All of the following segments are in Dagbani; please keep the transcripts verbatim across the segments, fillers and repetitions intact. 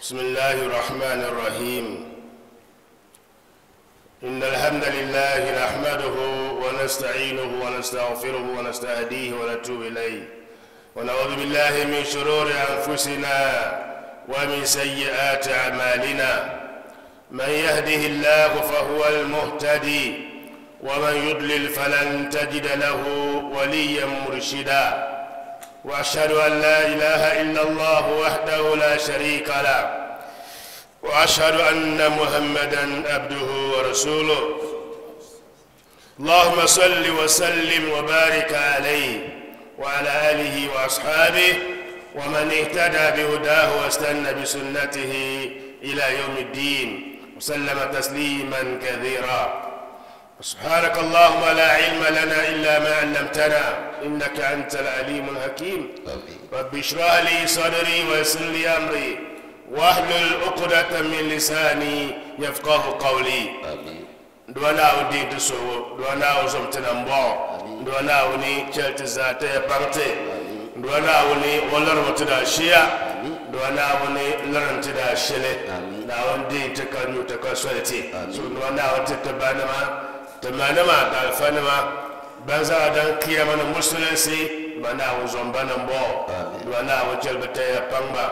بسم الله الرحمن الرحيم. إن الحمد لله نحمده ونستعينه ونستغفره ونستهديه ونتوب إليه، ونعوذ بالله من شرور أنفسنا ومن سيئات أعمالنا. من يهده الله فهو المهتدي، ومن يضلل فلن تجد له وليا مرشدا. وأشهد أن لا إله إلا الله وحده لا شريك له، وأشهد أن محمدا عبده ورسوله. اللهم صل وسلم وبارك عليه وعلى آله وأصحابه ومن اهتدى بهداه واستنى بسنته إلى يوم الدين، وسلم تسليما كثيرا. سبحانك اللهم لا علم لنا إلا ما علمتنا إنك أنت العليم الحكيم. رب اشرح لي صدري ويسر لي أمري واحلل عقدة من لساني يفقه قولي. دوانا ودي تسو دوانا وزمتنا مبو دوانا وني كلت ذاتي بانتي دوانا وني ولر متدا شيا دوانا وني لرنتدا شلي ناون دي تكنيو تكسولتي سو دوانا وتتبانما تمانما دالفانما بانزا دان كيامن مسلسي دوانا وزمبانا مبو دوانا وجلبتي بانبا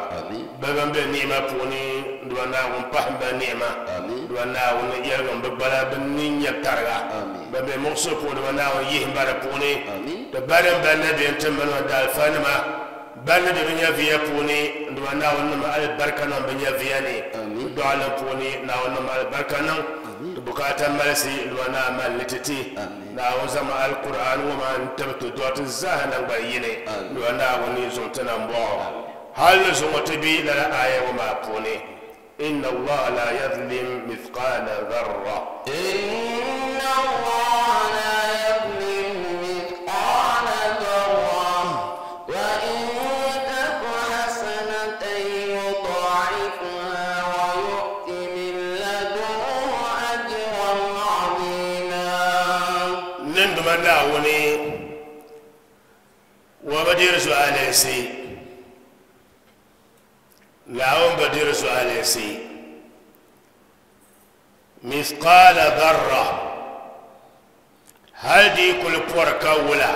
بابن بنيمة بوني دوانا ومبهم بنيمة دوانا ونيرغم ببلا بنين يبترغا بابن مقصو بوني دوانا ويهم بارا بوني تبارن بنبي انتمن ودالفانما بنبي بنيا فيا بوني دوانا ونما البركة نم بنيا فياني دوانا بوني ناونما البركة نم بكاتا مالسي دوانا مالتتي ناوزم القرآن وما انتبت دوات الزهن بيني دوانا ونيزمتنا مبو هل زمتبي لا آية وما بوني. إن الله لا يظلم مثقال ذرة. إن الله لا يظلم مثقال ذرة وإن تك حسنة يضاعفها ويؤت من لدنه أجرا عظيما. نندم ناوني وبدير سؤالي سي لاون بدير سؤالي سي مثقال ذرة هل دي كل بوركا ولا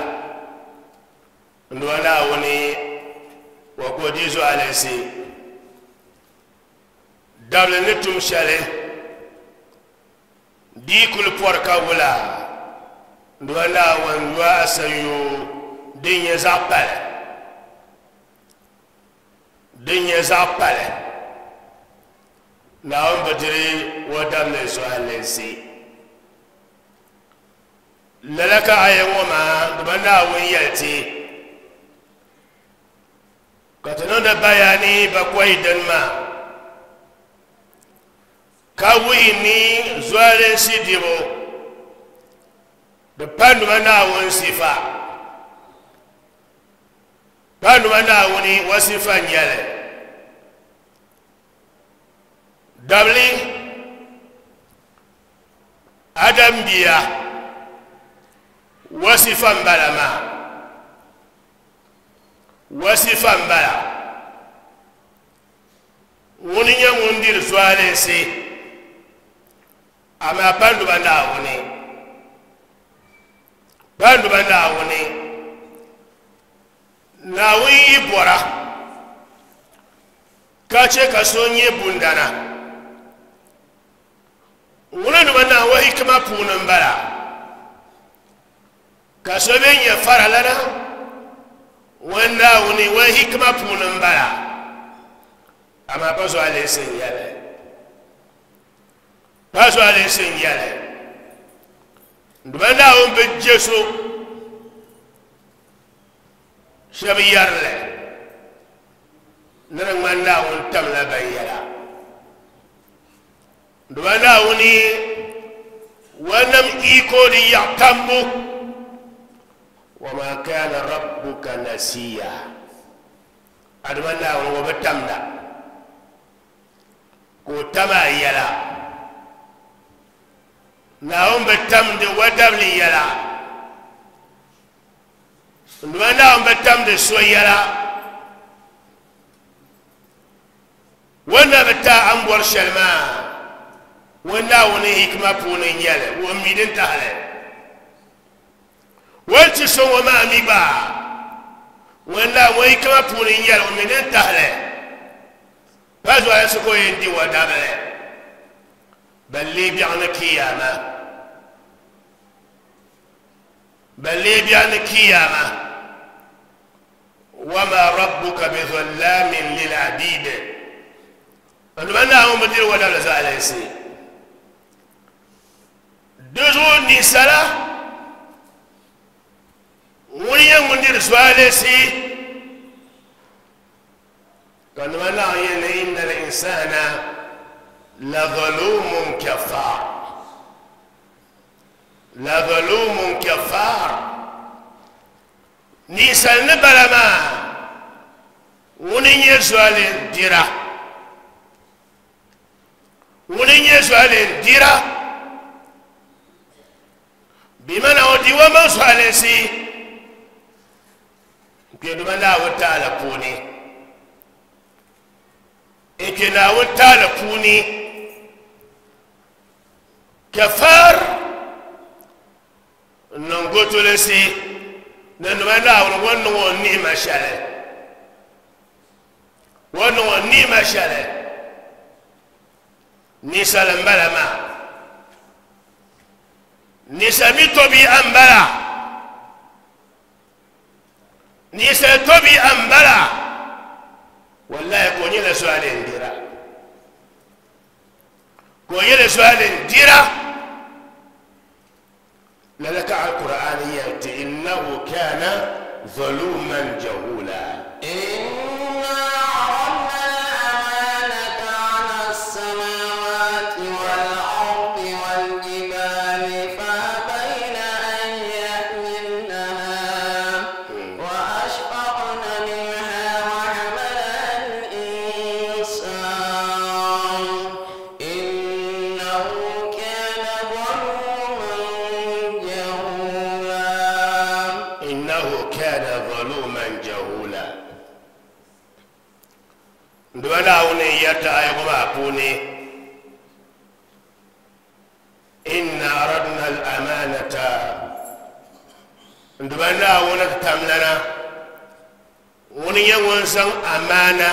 نوانا وني وكودي سؤالي سي دبل نتم شالي دي كل بوركا ولا نوانا ونوا سيو دين يزابل din nyɛ zaɣ pali Naawuni bi diri o damli zuɣulinsi lala ka aya ŋɔ maa di ba Naawuni yɛli ti ka ti niŋdi bayani bakɔi dini maa ka wuhi ni zuɣulinsi dibu di pa nima Naawuni sifa pa nima Naawuni wa sifa n-nyɛli dabli adam bia wa sifa n-bala maa wa sifa n-bala ŋuni nyɛ ŋun diri zualinsi amaa pa nima Naawuni pa nima Naawuni Naawuni yi bɔra ka che ka so nyɛ bundana ŋuni nima Naawuni hikima puuni m-bala ka so bɛ nyɛ faralana ŋun Naawuni wa hikima puuni m-bala amaa pa zualinsi n-nyɛli pa zualinsi n-nyɛli nima Naawuni bi je so shɛba yɛrili ni di ŋmani Naawuni tamla ban yɛla nima Naawuni wa nam iko di yaɣ tambu wama kana rabbuka nasiya adama Naawuni wa bi tamda ka o tam a yɛla Naawuni bi tamdi wa dabli yɛla nima Naawuni bi tamdi so yɛla Wanda bi ta an bɔri shɛli maa ŋun Naawuni hikima puuni n-nyɛli o mi din tahili ŋun ti so ŋɔ maa mi gba ŋun Naawuni hikima puuni n-nyɛli o mi din tahili pa zuɣulinsi ka o yɛn di o dabili balli biɛɣu ni kiyama balli biɛɣu ni kiyama wama rabbuka bizallamin lil abid nduma Naawuni bi diri o dabili zuɣulinsi di zuɣu ninsala ŋun nyɛ ŋun diri zuɣulinsi ka nduma Naawuni yɛli ni inna al-insana la zalumun kafar la zalumun kafar ninsal ni bala maa ŋun nyɛ zuɣulin dira ŋun nyɛ zuɣulin dira bimana o di o maŋ zuɣulinsi n-kpe nduma Naawuni taala puuni n-kpe Naawuni taala puuni kafar n-niŋ gotolinsi ni nduma Naawuni ŋun niŋ o ni'ima shɛli ŋun niŋ o ni'ima shɛli ninsal n-bala maa ninsal mi tɔbi'a n-bala ninsal tɔbi'a n-bala wallahi ka o nyɛla zuɣulin dira ka o nyɛla zuɣulin dira lala ka Alkur'an yɛli ti innahu kana zaluman jahula إنا عرضنا الأمانة على السماوات والأرض والجبال فأبين أن يحملنها وأشفقن منها وحملها الإنسان إنه كان ظلوما جهولا إنه كان ظلوما جهولا nduma Naawuni yɛriti aya ŋɔ maa puuni inna aradna al-amanata nduma Naawuni tamlana ŋuni nyɛ ŋun zaŋ amana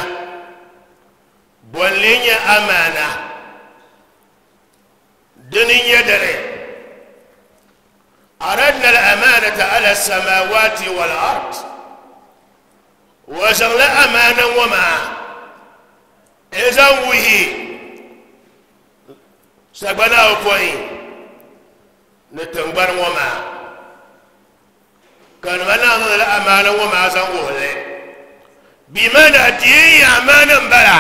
bolli nyɛ amana dini nyɛ dini aradna al-amanata ala as-samawati wal-ard wa zaŋla amana ŋɔ maa n-zaŋ wuhi sagbana ayopɔin ni tiŋgbani ŋɔ maa ka nima Naawuni zaŋla amana ŋɔ maa zaŋ wuhili bimana diin amana n-bala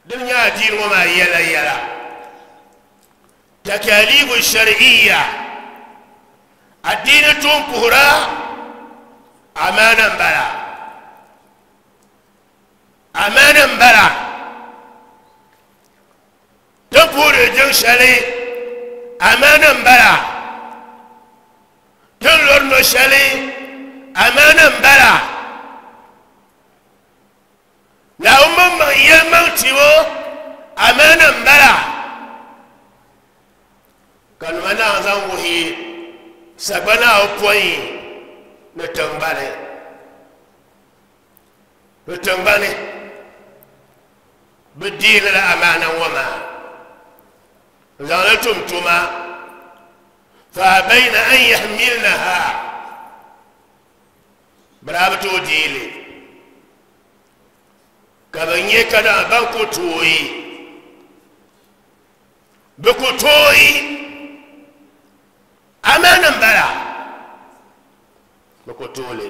din nyɛ adiini ŋɔ maa yɛla yɛla takalibu shar'iyya adiini tun puhira amana n-bala amana n-bala tin puhiri jiŋ shɛli amana n-bala tin lori no shɛli amana n-bala Naawuni maŋmaŋ yɛlimaŋ tibo amana n-bala ka nima Naawuni zaŋ wuhi sagbana ayopɔin ni tiŋgbani ni tiŋgbani bi deegi la amana ŋɔ maa n-zaŋ li tum tuma fa abayna an yahmilnaha bɛ daa bi tooi deei ka bɛ nyɛ ka daa ban ku tooi bɛ ku tooi amana n-bala bɛ ku tooi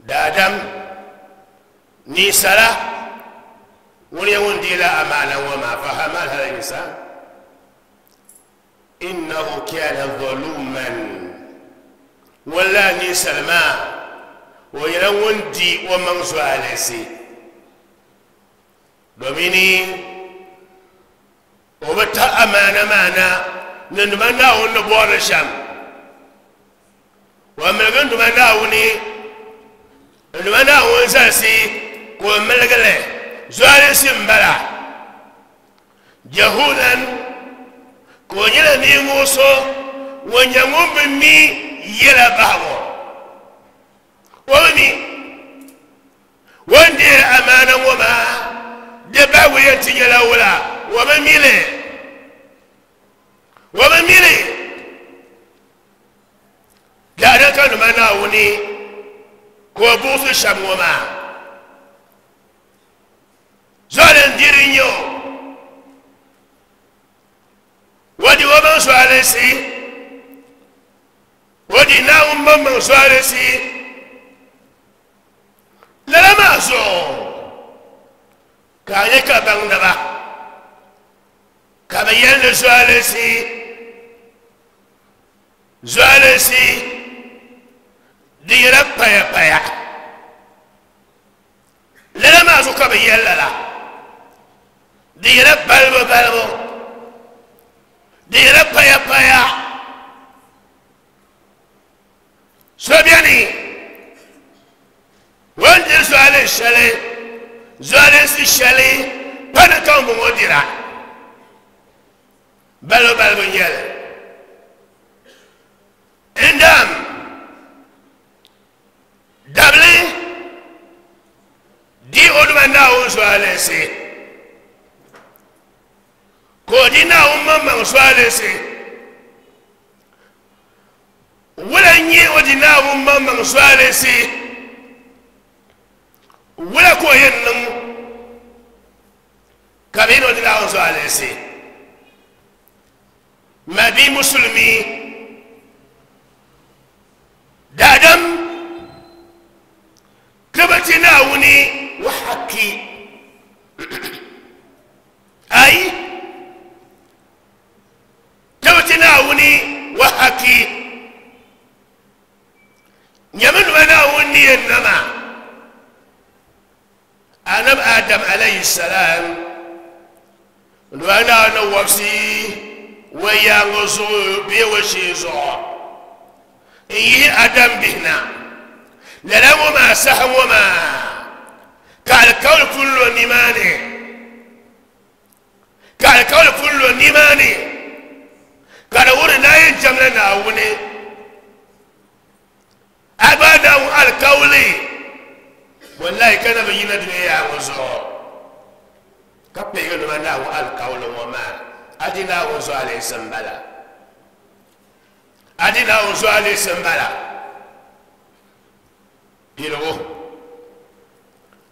daadam ninsala ŋun nyɛ ŋun deei la amana ŋɔ maa fa hamalaha al-insan innahu kana zaluman ŋun la ninsal maa o nyɛla ŋun di o maŋ zuɣulinsi domini o bi tahi amana maa na ni nduma Naawuni ni bɔrili shɛm o miligi nduma Naawuni nduma Naawuni zalisi ka ka o miligi li zualinsi m-bala jahulan ka o nyɛla ninvuɣ so ŋun nyɛ ŋun bi mi yɛla bahigu o bi mi o ni deeri amaana ŋɔ maa di bahigu yɛn ti nyɛla wula o bi mi li o bi mi li daadam ka nima Naawuni ka o buɣisi shɛm ŋɔ maa zualin diri n-nyɛ o o di o maŋ zualinsi o di Naawuni maŋmaŋ zualinsi lala maa zuɣu ka a nyɛ ka baŋdiba ka bɛ yɛli ni zualinsi zualinsi di nyɛla paya paya lala maa zuɣu ka bɛ yɛli lala di nyɛla balibu balibu di nyɛla paya paya so beni o ni diri zualin shɛli zualinsi shɛli pa ni ka ŋun dira balibu balibu n-nyɛli ndam dabili di o duma Naawuni zualinsi ka o di Naawuni maŋmaŋ zualinsi wula n-nyɛ o di Naawuni maŋmaŋ zualinsi wula ka o yɛn niŋ ka bɛ ni o di Naawuni zualinsi ma bi musulmi daadam ka bi ti Naawuni wa haki ayi ka bi ti Naawuni wa haki nyɛmi nima Naawuni ni yɛn nama annabi Adam alayhi salam nima Naawuni wabisi wa yaaŋa zuɣu bee wa shee zuɣu n yihi Adam bihi na lala ŋɔ maa saha ŋɔ maa ka alikauli pun lo nimaani ka alikauli pun lo nimaani ka di wuhi ni a yɛn jɛmla Naawuni a gba Naawuni alikauli wallahi ka na bi yina dunia yaa ŋɔ zuɣu ka kpeegi nima Naawuni alikauli ŋɔ maa a di Naawuni zualinsi m-bala a di Naawuni zualinsi m-bala piligu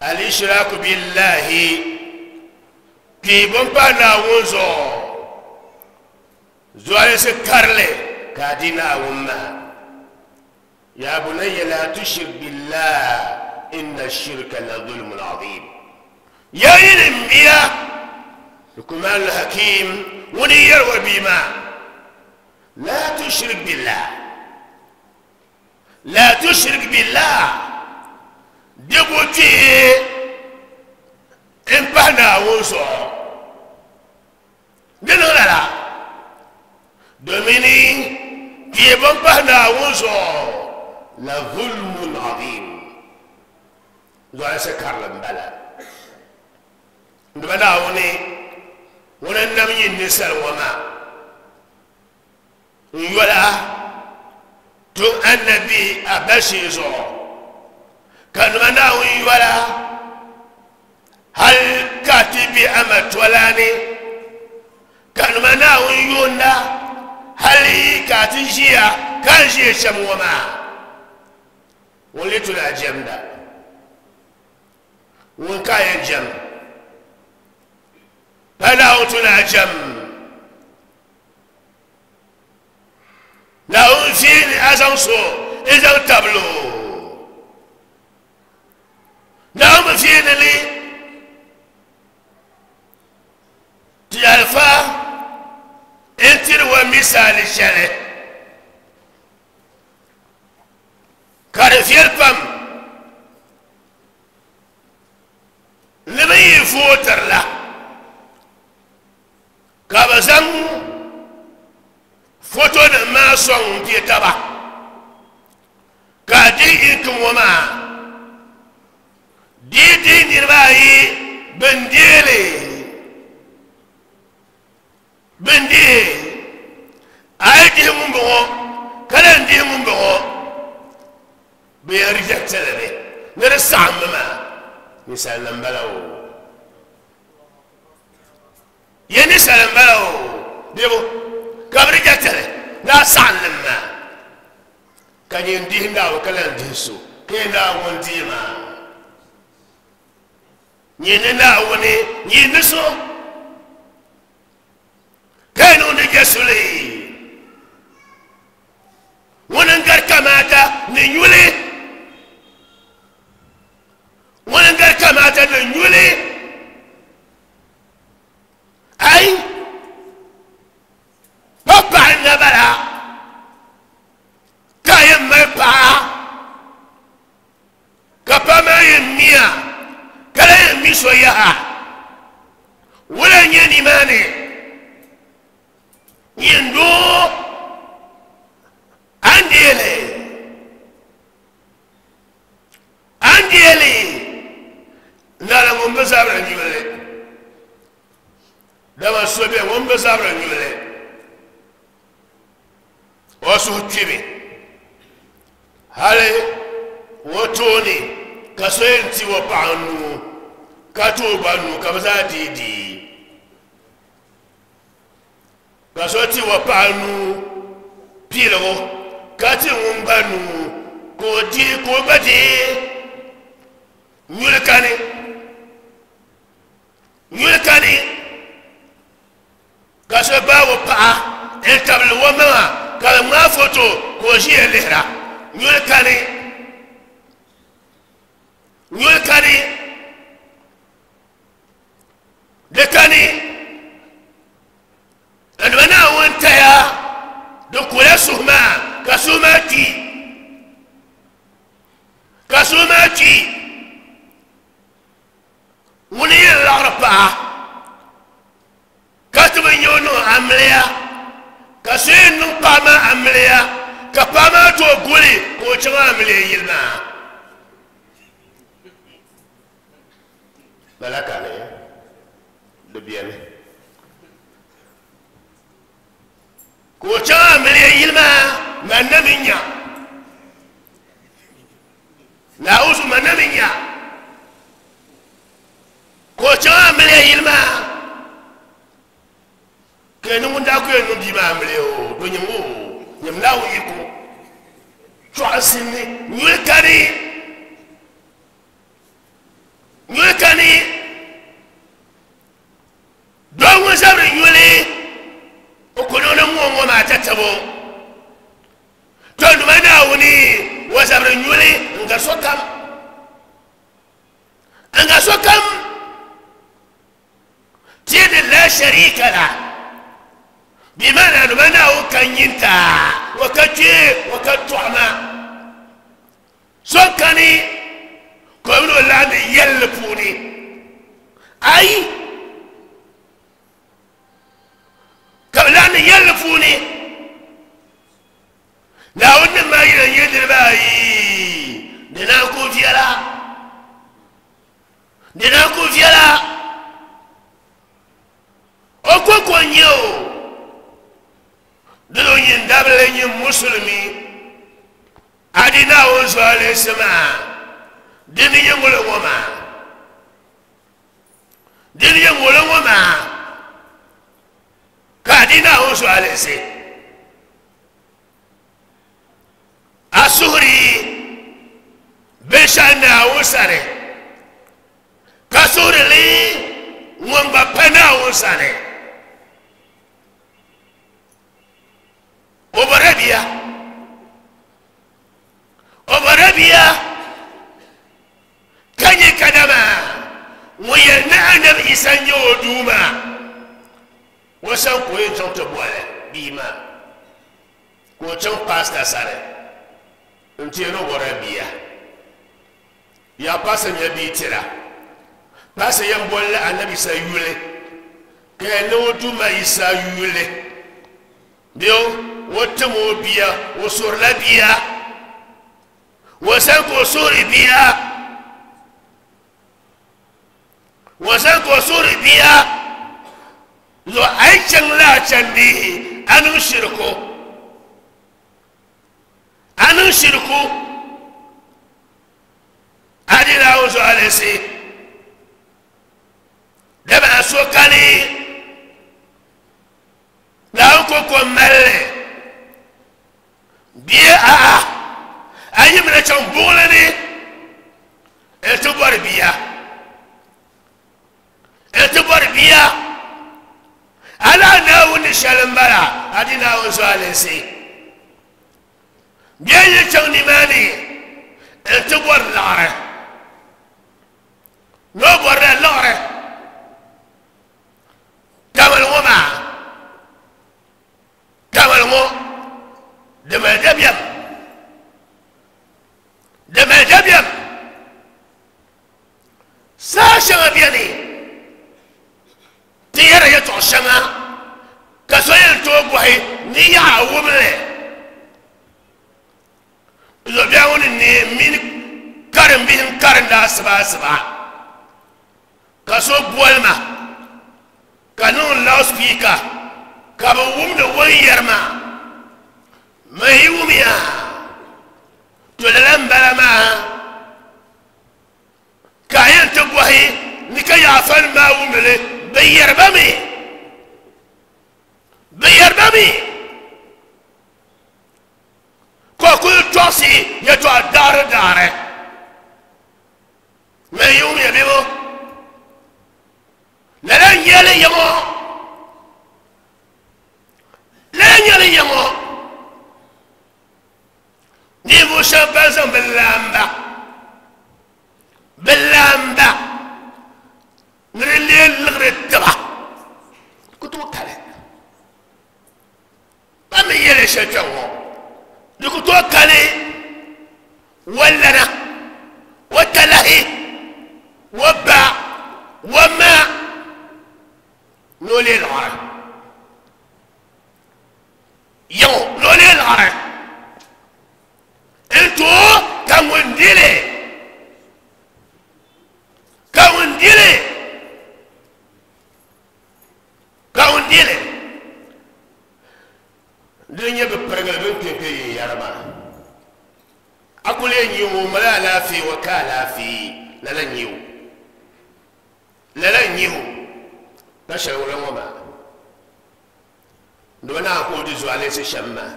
al-ishraku billahi kpiibu m-pahi Naawuni zuɣu zualinsi karili ka a di Naawuni maa ya bunayya la tushrik billah inna shirka la zulmun azim ya yini m bia Luqman al-Hakim ŋuni yɛri o bia maa la tushrik billah la tushrik billah di bu kpee n pahi Naawuni zuɣu di niŋ lala domini kpeebu n pahi Naawuni zuɣu la zulmun azim zualinsi karili m-bala nima Naawuni ŋuni n nam nyin ninsal ŋɔ maa n yola tun annabi a ba shee zuɣu ka nima Naawuni yola hal ka ti be a ma tolani ka nima Naawuni yoonda hali ka ti ʒiya ka n ʒiya shɛm ŋɔ maa ŋun lee tuni a jɛmda ŋun ka a yɛn jɛm pa Naawuni tuni a jɛm Naawuni fiini a zaŋ so n zaŋ tabili o Naawuni fiini li ti alifa n tiri wa misali shɛli ka di viɛli pam ni bi yi vootiri la ka bi zaŋ foto nim maa sɔŋ n pie taba ka di inki ŋɔ maa di Yi di niriba ayi bin deeli bin dihi a yi dihi ŋun bɔŋɔ ka lan dihi ŋun bɔŋɔ bɛ yɛn rejectili mi ni di saɣimmi maa ninsal nim bala o ye ninsal n bala o debu ka bi rejectili ni a saɣimlim maa ka nyin dihi Naawuni ka lan dihi so ka yi Naawuni dihi maa nyin ni Naawuni nyin ni so ka yi niŋdi je suli ŋuni n gari kamaata ni nyuli ŋuni n gari kamaata ni nyuli ai pa paɣa n na bala ka yɛn mali paɣa ka paɣa maa yɛn miya ka la yɛn mi so yaha wula n nyɛ nimaani nyin doo an deeli an deeli nala ŋun bi zabiri nyuli dama so bɛ ŋun bi zabiri nyuli o suhu kpimi hali o tooni ka so yɛn ti o paɣa nuu ka ti o gba nuu ka bi zaa dii dii ka so ti o paɣa nuu piligu ka ti ŋun gba nuu ka o dii ka o gba dii nyuli kani nyuli kani ka so gbaai o paɣa n tabili o maŋa ka bi ŋmaai foto ka o ʒiya lihira nyuli kani nyuli kani di kani nduma Naawuni taya di kula suhu maa ka suhu maa kpi ka suhu maa kpi ŋuni yɛn laɣiri paɣa ka ti bi nyɛ o niŋ amiliya ka so yɛn niŋ paɣa maa amiliya ka paɣa maa tooi guli ka o chaŋ amiliya yili maa lala kani di beni ka o chaŋ amiliya yili maa man na mi nya Naawuzu man na mi nya ka o chaŋ amiliya yili maa ka ni ŋun daa ku yɛn niŋ bia maa amiliya o do nyim o nyim Naawuni yiko chɔɣinsi ni nyuli kani nyuli kani doo ŋun zabiri nyuli o ku niŋdi ŋɔ ŋɔ maa tatabo to nduma Naawuni o zabiri nyuli n gari sokam n gari sokam tini la sharika la bimana nduma Naawuni ka nyinta o ka kpee o ka tɔɣima so kani ka o mini o laɣindi yɛlli puuni ayi ka bi laɣindi yɛlli puuni Naawuni nim maa yina nyɛ niriba ayi di naan ku viɛla di naan ku viɛla o ko ko n nyɛ o dino nyin dabili nyin musulimi a di Naawuni zuɣulinsi maa dini nyɛ ŋolo ŋɔ maa dini nyɛ ŋolo ŋɔ maa ka a di Naawuni zuɣulinsi a suhuri binshɛɣu Naawuni sani ka suhuri li ŋun gba pa Naawuni sani o bɔra bia o bɔra bia ka nyɛ kadama ŋun yɛli ni Anabi Isa n nyɛ o duuma o san ka o yɛn chaŋ ti bɔli bia maa ka o chaŋ paasita sani n ti yɛn o bɔra bia yaa paasita nyɛ bia tira paasita yɛn bɔli la Anabi Isa yuli ka yɛn ni o duuma Isa yuli bɛ o tim o bia o suhurila bia o san ka o suhuri bia Wasan ko suri biya zo ai chan la chan di anu shirku anu shirku adina uzu alisi daba so kali la ko ko melle biya a a ayi mena chan bole ni e to bor biya etubor biya ala naawuni shɛli m-bala a di naawuni zualinsi bia yi chaŋ nimaani nti bɔri laɣiri ni o bɔrila liɣiri tamali ŋɔ maa tamali ŋɔ di mali dabiɛm di mali dabiɛm saa shɛŋa beni ti yɛra yɛltɔɣa shɛŋa ka so yɛn tooi bɔhi ni yaɣa wumli zuɣubiɛɣu ŋɔ ni neei mini karimbihi n-karinda asiba asiba ka so boli ma ka niŋ loudspeaker ka bi wumdi o ni yɛri maa ma yi wumya to lala m-bala maa ka a yɛn ti bɔhi ni ka yaɣa fani maa wumdi li bi yɛriba mi bi yɛriba mi ka o kuli tɔɣisi yɛltɔɣa daɣiri daɣiri mɛ yi wumya bebo lala n-nyɛli yaŋɔ lala n-nyɛli yaŋɔ ninvuɣ shɛba ban zaŋ bi laamba bi laamba ni di lee liɣiri tiba ku tooi kali ba mi yɛli shɛli kpɛŋ ŋɔ di ku tooi kali wa lana wa talahi wa ba wa ma ni o lee liɣiri yaŋɔ ni o lee liɣiri n tooi ka ŋun dili ka ŋun dili ka ŋun dili di nyɛ bi pirigili bin kpɛ kpɛ yin yɛri maa a kuli yɛn nyɛ o mali alaafee o ka alaafee lala n nyɛ o lala n nyɛ o ka shɛli wula ŋɔ maa dama naa ka o di zualinsi shɛm maa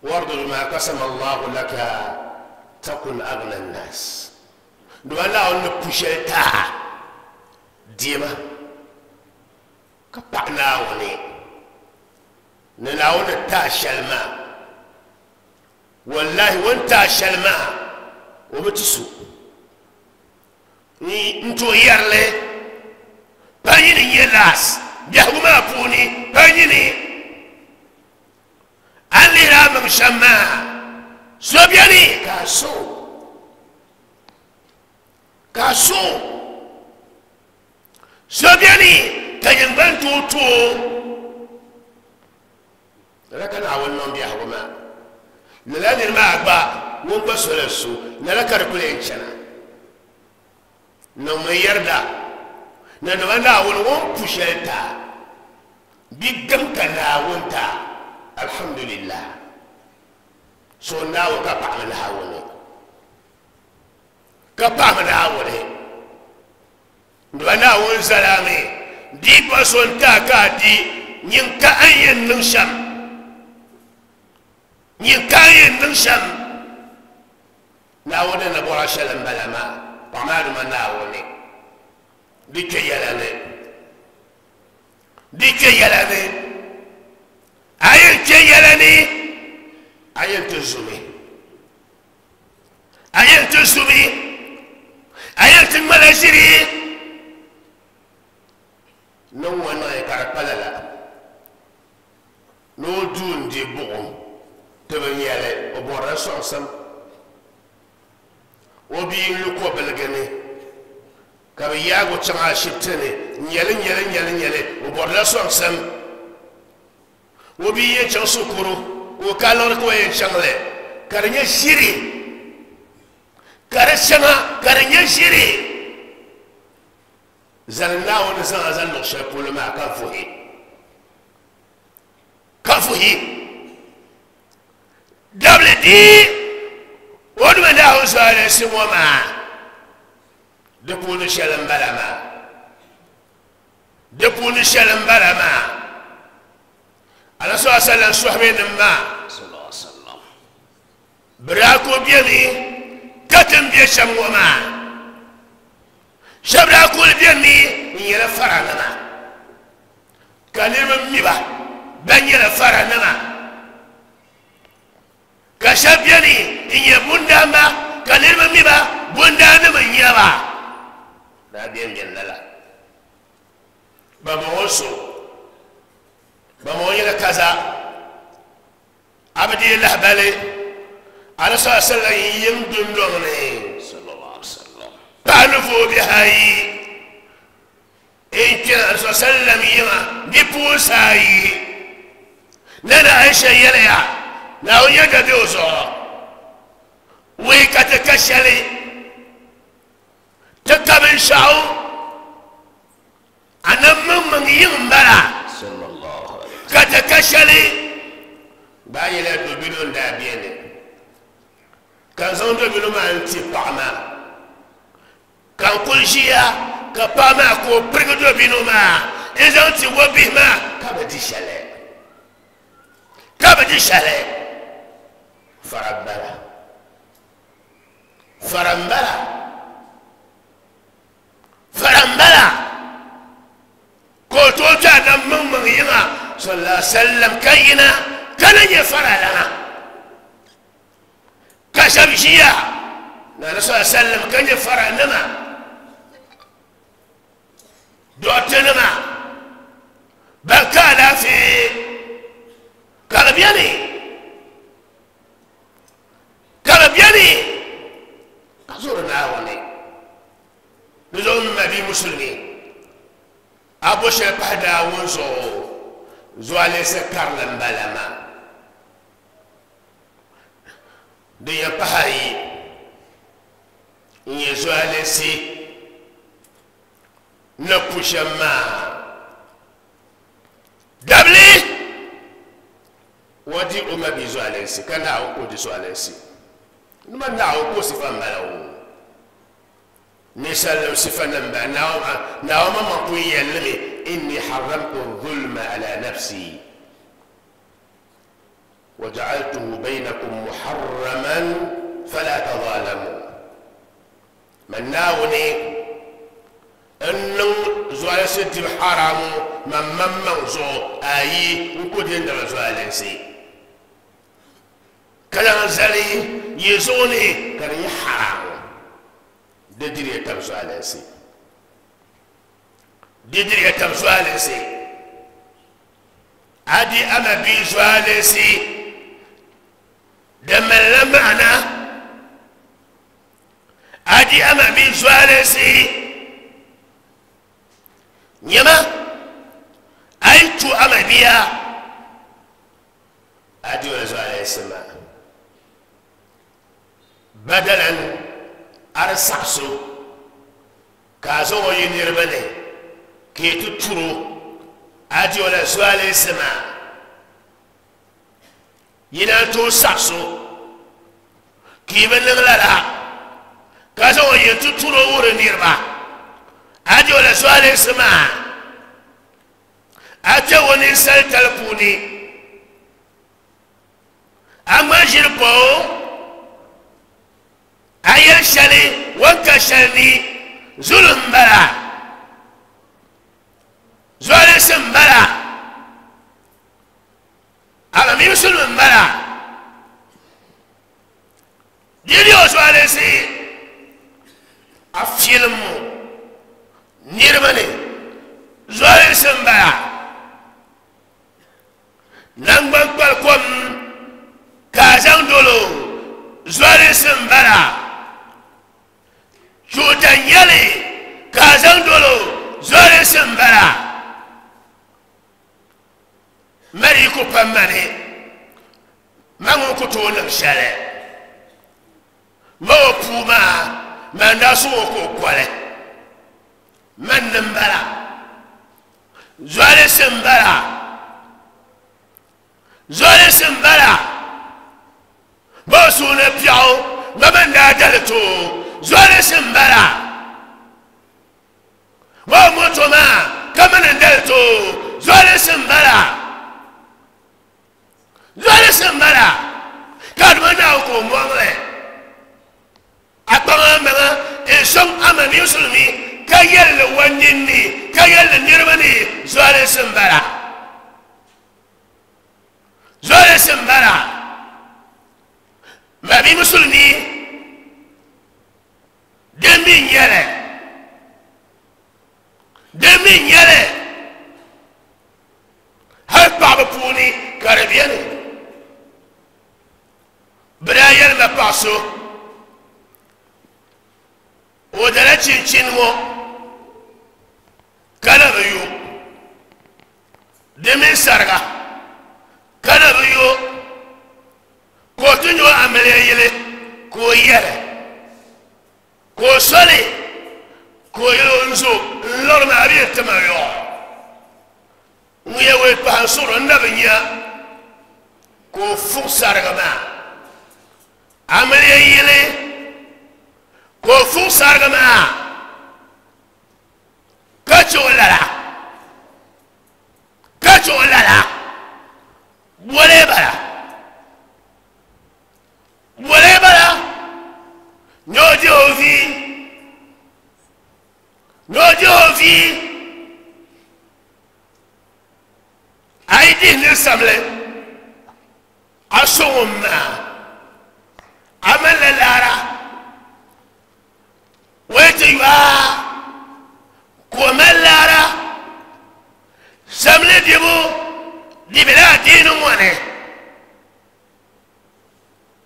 wardu bima qasama Allahu laka takun aghna an-nas dama Naawuni ni pu shɛli taa diɛma ka paɣa Naawuni ni Naawuni taa shɛli maa wallahi o ni taa shɛli maa o bi ti so n tooi yɛrili pa nyini nyɛ laas biɛhigu maa puuni pa nyini a ni lihiri a maŋ shɛm maa so beni ka a so ka a so so beni ka nyingban tooi tooi lala ka Naawuni niŋ biɛhigu maa lala niri maa gba ŋun gba sola so lala ka di kuli yɛn chana niŋmi yɛrida ni dama Naawuni ŋun pu shɛli taa bi gam ka Naawuni taa alhamdulillah so Naawuni ka paɣami Naawuni ka paɣami Naawuni dama Naawuni zalami di gba so n taa ka a di nyin ka a yɛn niŋ shɛm nyin ka a yɛn niŋ shɛm Naawuni ni bɔra shɛli n bala maa paɣa maa dama Naawuni di kpɛ yɛla ni di kpɛ yɛla ni a yɛn kpɛ yɛla ni a yɛn ti zumi a yɛn ti zumi a yɛn ti ŋmala ʒiri niŋ ŋɔ niŋ ka di pa lala ni o duu n di buɣum ti bi nyɛli o bɔrila sɔŋsim o bia n lu kobiligi ni ka bi yaagi o chaŋ ashibiti ni n nyɛli nyɛli nyɛli nyɛli o bɔrila sɔŋsim o bia yɛn chaŋ shikuru ka o ka liɣiri ka o yɛn chaŋ li ka di nyɛ ʒiri ka di shɛŋa ka di nyɛ ʒiri Zani Naawuni zaŋ a zali luɣ shɛli polo maa ka vuhi ka vuhi dabili di o duma Naawuni zualinsi ŋɔ maa di puuni shɛli m-bala maa di puuni shɛli m-bala maa Ala sallallahu alaihi wasallam sɔhibe maa bɛ daa ku bemi ka ti ni be shɛm ŋɔ maa shɛba daa kuli bemi n-nyɛla faranima ka niriba mi ba ban nyɛla faranima ka shɛba beni n-nyɛ bundaamba ka niriba mi ba bundaanima n-nyɛ ba daa beni beni lala bambɔŋɔ so bambɔŋɔ nyɛla kaza a bi deei lahibali Ala sallallahu alaihi wasallam yiŋ dundɔŋ ni paɣa ni vooi bihi ayi n kpɛna Ala sallallahu alaihi wasallam yiŋa bipuɣinsi ayi Nana Aisha yɛliya Naawuni yɛda be o zuɣu wuhi ka ti ka shɛli ti ka binshaɣu a nam maŋmaŋ yiŋ m-bala ka ti ka shɛli gbaai nyɛla dobino n-daa beni ka n zaŋ dobino maa n-ti paɣa maa ka n kuli ʒiya ka paɣa maa ka o pirigi dobino maa n-zaŋ ti o bihi maa ka bi di shɛli ka bi di shɛli fara m-bala fara m-bala fara m-bala ka o tooi kpe a nam maŋmaŋ yiŋa sallallahu alaihi wasallam ka yina ka na nyɛ fara lana ka shɛba ʒiya na sallallahu alaihi wasallam ka nyɛ fara nima dɔɣite-nima ban ka alaafee ka di beni ka di beni ka zori Naawuni di zuɣu m ma bia musulimi a bo shɛli pahi Naawuni zuɣu zualinsi karili m-bala maa din yɛn pahi ayi n-nyɛ zualinsi ni pu shɛm maa dabili o di o ma bia zualinsi ka Naawuni ka o di zualinsi nima Naawuni ka o sifa m-bala o ninsalinim sifa nim bala Naawuni maŋmaŋ pun yɛlimi inni haramtu zulma ala nafsi وجعلته بينكم محرما فلا تظالموا من ناوني ان زوالسي دي حرام من من من زو اي نكو دين دبا زوالسي كلا زالي يزوني كان حرام دي دي تب زوالسي دي دي تب زوالسي ادي اما بي زوالسي دم لمعنا ادي اما بي زوالسي نيما اي تو اما بيا ادي زوالسي ما بدلا ارسحسو كازو ينيربني كي تترو ادي ولا زوالسي ما yina to sakso ki bi niŋ lala ka zaŋ o yɛn ti turo wuri niriba a di o la zualinsi maa a kpɛ o ninsali tali puuni a ŋma ʒiri pa o a yɛli shɛli o ni ka shɛli ni zuli m-bala zualinsi m-bala ala mi musulmi m-bala di o zualinsi a filimmu niriba ni zualinsi m-bala nangban kpali kom ka a zaŋ dolo zualinsi m-bala chuuta nyɛli ka a zaŋ dolo zualinsi m-bala mari ku pa mani ma ŋun ku tooi niŋ shɛli ma o puu maa man daa sɔŋ o ka o kɔli Man nimbala zoli simbala zoli simbala bo suuna piɛɣu ba man daa dali to zoli simbala bo moto maa ka man dali to zoli simbala zoli simbala ka duma naa ko mɔŋli a kpaŋa maŋa n sɔŋ ama musulmi ka yɛlli wa ninni ka yɛlli niriba ni zoli simbala zoli simbala mabi musulmi din mi nyɛli din mi nyɛli hali paɣaba puuni ka di beni bɛ daa yɛlima paɣa so o dala chinchini ŋɔ ka na bi yo di mini sariga ka na bi yo ka o ti nyɛ o amiliya yili ka o yɛli ka o soli ka o yɛli o n zo n lɔri maa a bi yɛn ti ma yɔɣɔ ŋun yɛ wei paɣa n suhuri n na bi nya ka o fuɣi sariga maa amiliya yili ka o fuɣi sariga maa ka che o lala ka che o lala wole bala wole bala n'o di o vi n'o di o vi a yi dihi ni samli a sɔŋ o maa a mali la laara o yi ti yoa ka o mali laara samli dibu di bela adiini ŋɔ ni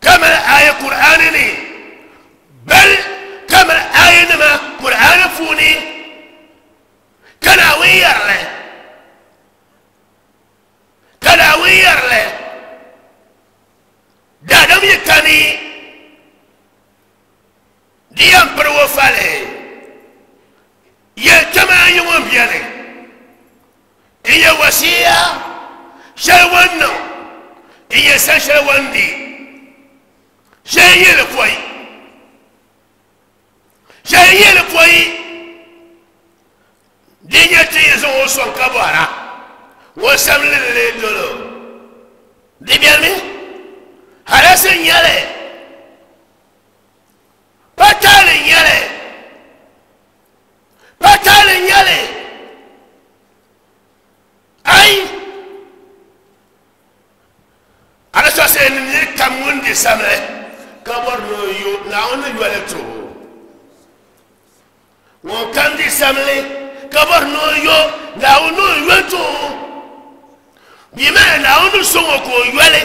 ka mali aya Kur'aani ni bal ka mali aya nima Kur'aani puuni ka Naawuni yɛrili ka Naawuni yɛrili daadam yi kani di yɛn piri o fali yɛltɔma ayi ŋɔ beni n yɛ wasiya shɛli ŋɔ niŋ n yɛ san shɛli ŋɔ di shɛli yɛli pɔi shɛli yɛli pɔi di nyɛ ti yi zaŋ o sɔŋ ka bɔra ŋɔ samli li dolo di bɛni halasi nyɛli patali nyɛli patali nyɛli ai ala sɔsɛ ni niri kam ŋun di samli ka bɔri ni o yo Naawuni ni yɔli ti o ŋun kam di samli ka bɔri ni o yo Naawuni ni o yɔli ti o bi maa Naawuni ni sɔŋ o ka o yɔli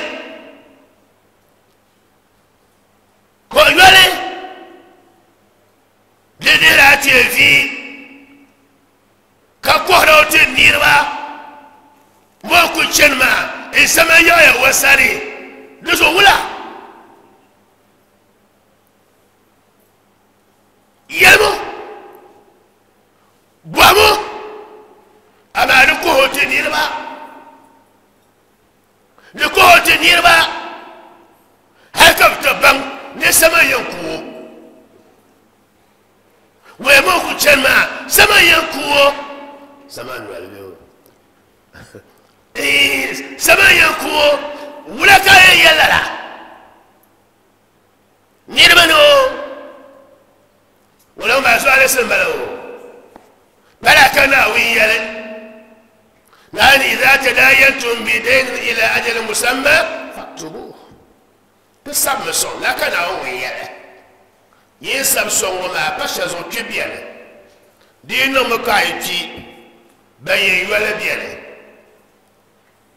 ka o yɔli di dihila teevi ka kɔhira o ti niriba ŋɔ ku chani maa n sama yaɣaya o sani di zuɣu wula yɛlimu bɔhimu amaa di kɔhi o ti niriba di kɔhi o ti niriba hali ka bi ti baŋ ni sama yɛn ku o wɛi ŋɔ ku chani maa sama yɛn ku o sama noli bɛ o sama yɛn ku o wula ka yɛn yɛli lala niriba ni o wala maa zuɣu alisi n bala o bala ka Naawuni yɛli naani idha tadayantum bidaynin ila ajalin musamma faktubuhu ti sabimi sɔŋ la ka Naawuni yɛli yin sabi sɔŋ ŋɔ maa pa shɛli zuɣu kpi bɛni di yi niŋmi ka a yi kpi ban yɛn yɔli bɛni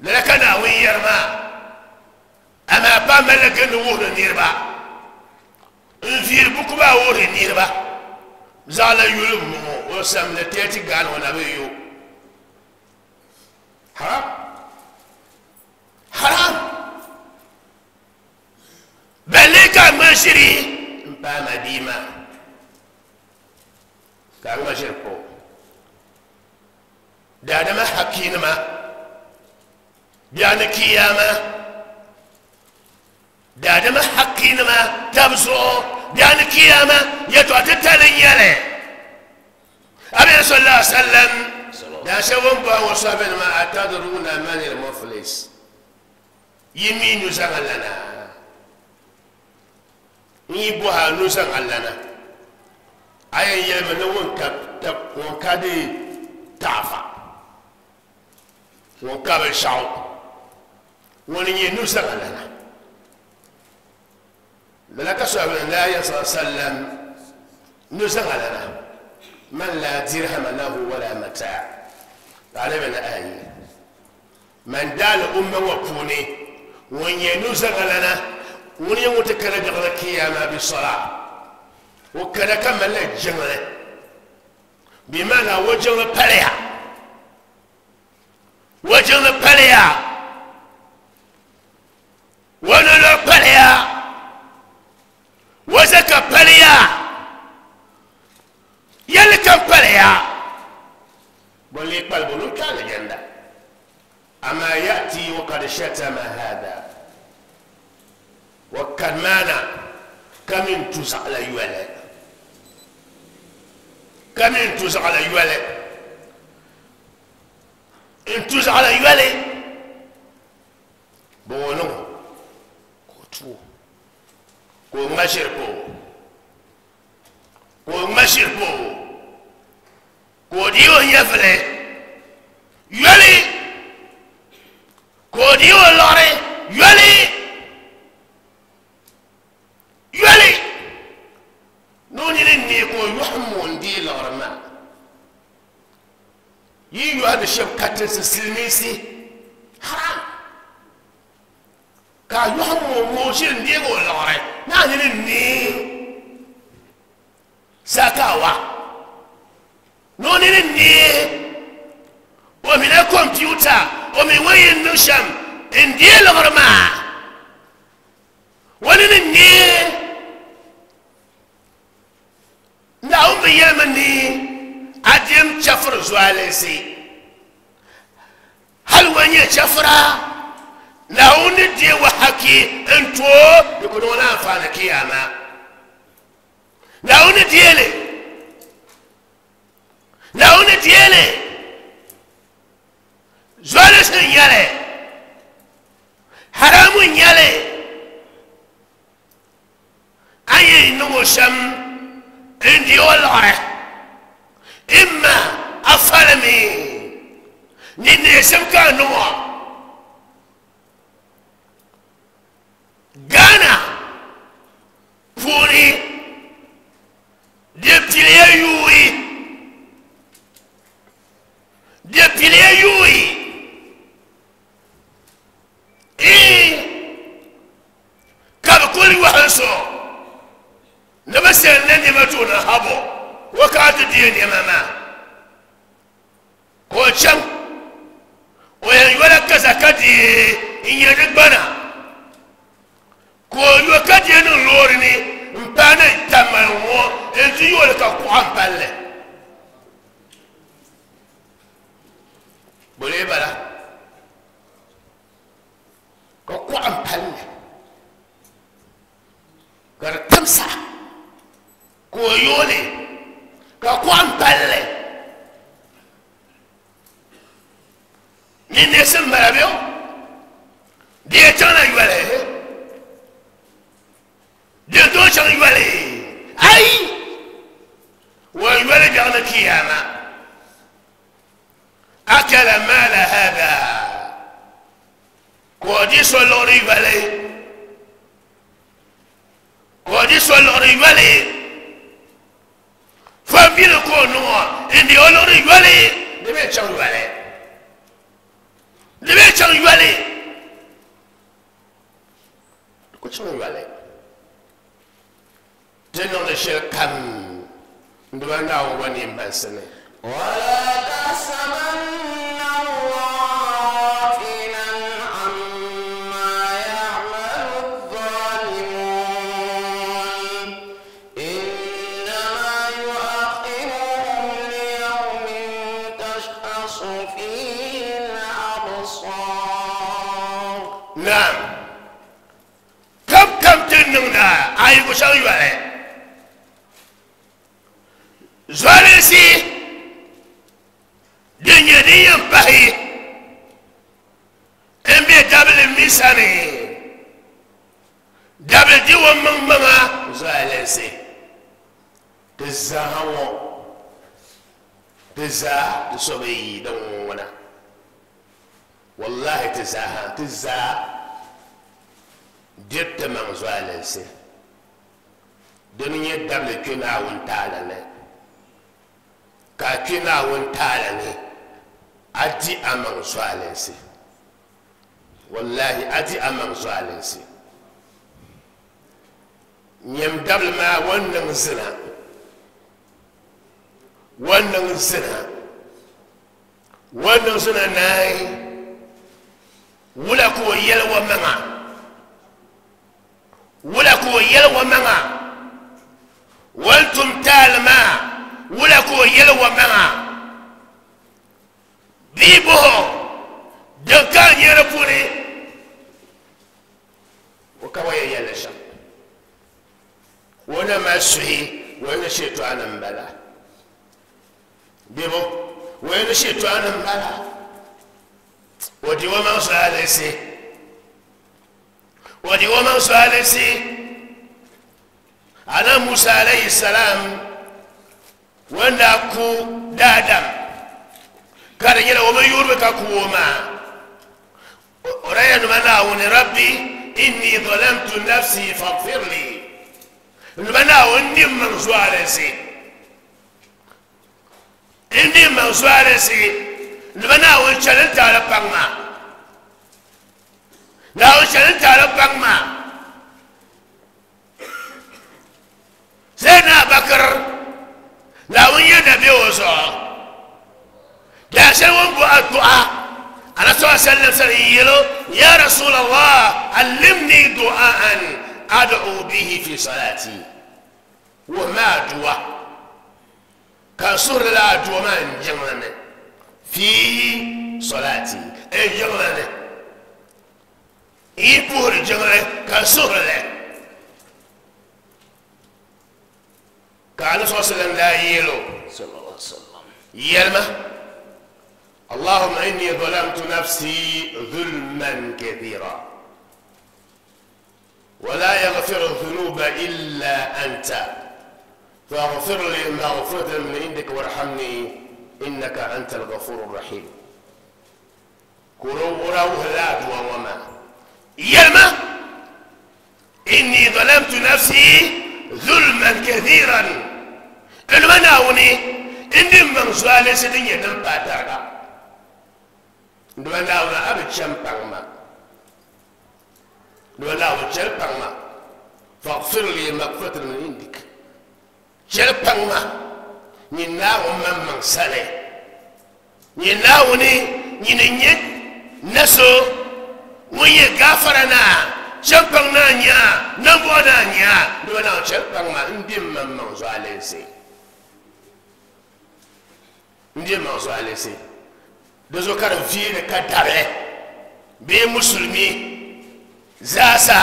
lala ka Naawuni yɛri maa amaa pa malila gindi wuhiri niriba n viiri buku maa wuhiri niriba zaɣ la yuli m bɔŋɔ o samli tɛɛti gaani o na bi yo haram haram balle ka ŋma ʒiri n paai ma bia maa ka a ŋma ʒiri pa o Daadama hakinima biani kiyama daadama hakinima tabzuɣu biani kiyama yɛtɔɣa titali n nyɛli abi sallallahu alaihi wasallam daa shɛba n bɔhi ŋɔ sɔhibinima atadruna man al-muflis yi mi nuzaŋa lana n yi bɔhi a nuzaŋa lana a yɛn yɛlimi ni ŋun ka ŋun ka di taafa ŋun ka binshaɣu ŋuni nyɛ nuzaŋa lana lala ka sɔhibini la ya sallallahu alaihi wasallam nuzaŋa lana man la dirhama lahu wala mataa alibina ayi man daali umma ŋɔ puuni ŋun nyɛ nuzaŋa lana ŋuni nyɛ ŋun ti kana biɛɣuni kiyama bi sɔla o kana ka malila jiŋli bimaana o jiŋli paliya o jiŋli paliya o nolo paliya o zaka paliya yɛlli kam paliya bon lee kpalibu ni o kpe alijanda ama yati wakad shatama hada wakad maana kamin tuzaɣala yɔli kamin tuzaɣala yɔli n tuzaɣala yɔli bɔŋɔ niŋ ka o tuo ka o ŋma ʒiri pa o ka o ŋma ʒiri pa o ka o dii o nyɛvili yɔli ka o dii o liɣiri yɔli yɔli ni o nini neei ka o yɔhim o n-dii liɣiri maa yi yɔhindi shɛba katinsi silimiinsi haram ka a yɔhim o ŋɔ o ʒiri n-deegi o liɣiri ni a nini neei sakawa ni o nini neei o mina kɔmputa o mi ŋɔ yɛn niŋ shɛm n-deei liɣiri maa o nini neei Naawuni bi yɛlimi ni a dim chɛfiri zualinsi hali o nyɛ chɛfira Naawuni ni deei o haki n tooi di ku niŋ o anfaani kiyama Naawuni ni deei li Naawuni ni deei li zualinsi n nyɛli haramu n nyɛli a yɛn niŋ o shɛm n-di o liɣiri imma a falimi ni neesim ka a niŋ o Ghana puuni di piliya yuui di piliya yuui ee ka bi kuli yɔhim so ni bi sɛn ni nɛma ti o ni habo o ka ti deei nɛma maa ka o chaŋ o yɛn yɔla kaza ka deei n-nyɛ di gbana ka o yɔ ka deei niŋ loori ni n paai ni tamali ŋɔ n-ti yooli ka kuɣa n palli bɔlee bala ka kuɣa n palli ka di timsa ka o yooli ka kuɣa n palli ni neesim bala bɛ o di yɛn chaŋla yɔli di yɛn tooi chaŋ yɔli ayi o yɔli biɛɣu ni kiyama akala maala hada ka o di so liɣiri yɔli ka o di so liɣiri yɔli fambili ka o niŋ o n-di o liɣiri yɔli di bɛ chaŋ yɔli di bɛ chaŋ yɔli di ku chaŋ yɔli ti niŋdi shɛli kam n diba Naawuni gba neen baŋsi ni. ولا تحسبن الله غافلا عما يعمل الظالمون إنما يؤخرهم ليوم تشخص فيه نعم كم كم تنمنا أي كشان يوالي زوالسي دنيا دنيا بحي امبي دبل ميساني دبل دي ومن مما زوالسي تزاهو تزا تصبي دونا والله تزاها تزا جبت من زوالسي دنيا دبل كنا وانتالا كنا وانتالا أدي أمان زوالسي والله أدي أمان زوالسي نيم دبل ما ونن زنا ونن زنا ونن زنا ناي ولا كو يلوى منا ولا كو يلوى منا ولتم تالما ولا كو يلوى منا بيبو دكان يرفوني وكوايا يلشا وانا ما سهي وانا شئت انا مبلا بيبو وانا شئت انا مبلا ودي وما سالسي ودي وما سالسي أنا موسى عليه السلام وانا كو دادم كان يلا وما يوربك كوما ورأي منا ربي إني ظلمت نفسي فاغفر لي منا وني من سوالسي إني من سوالسي لبنا وشلنت على بangma لا وشلنت على بangma سيدنا بكر لا وين نبي وصا لا سوون بو الدعاء أنا صلى الله عليه وسلم يا رسول الله علمني دعاء أدعو به في صلاتي وما دعاء كسر لا دعاء من جمعنا في صلاتي اي جمعنا اي جمعنا كسر لا كان صلى الله عليه وسلم لا يلو صلى الله عليه وسلم يلما اللهم إني ظلمت نفسي ظلما كثيرا ولا يغفر الذنوب إلا أنت فاغفر لي مغفرة من عندك وارحمني إنك أنت الغفور الرحيم. كرو لا وما يلما إني ظلمت نفسي ظلما كثيرا المناوني إني من سؤال سدين يدم باترا المناونا أبي شمبان ما المناونا شمبان ما فاغفر لي مغفرة من عندك شمبان ما نيناو من من سالي نيناوني نيني نسو ويه غفرنا شمبان نانيا نبو نانيا المناو شمبان ما ندي من من سؤال سي ndiye manzo alese dozo kar viene ka dare be musulmi zasa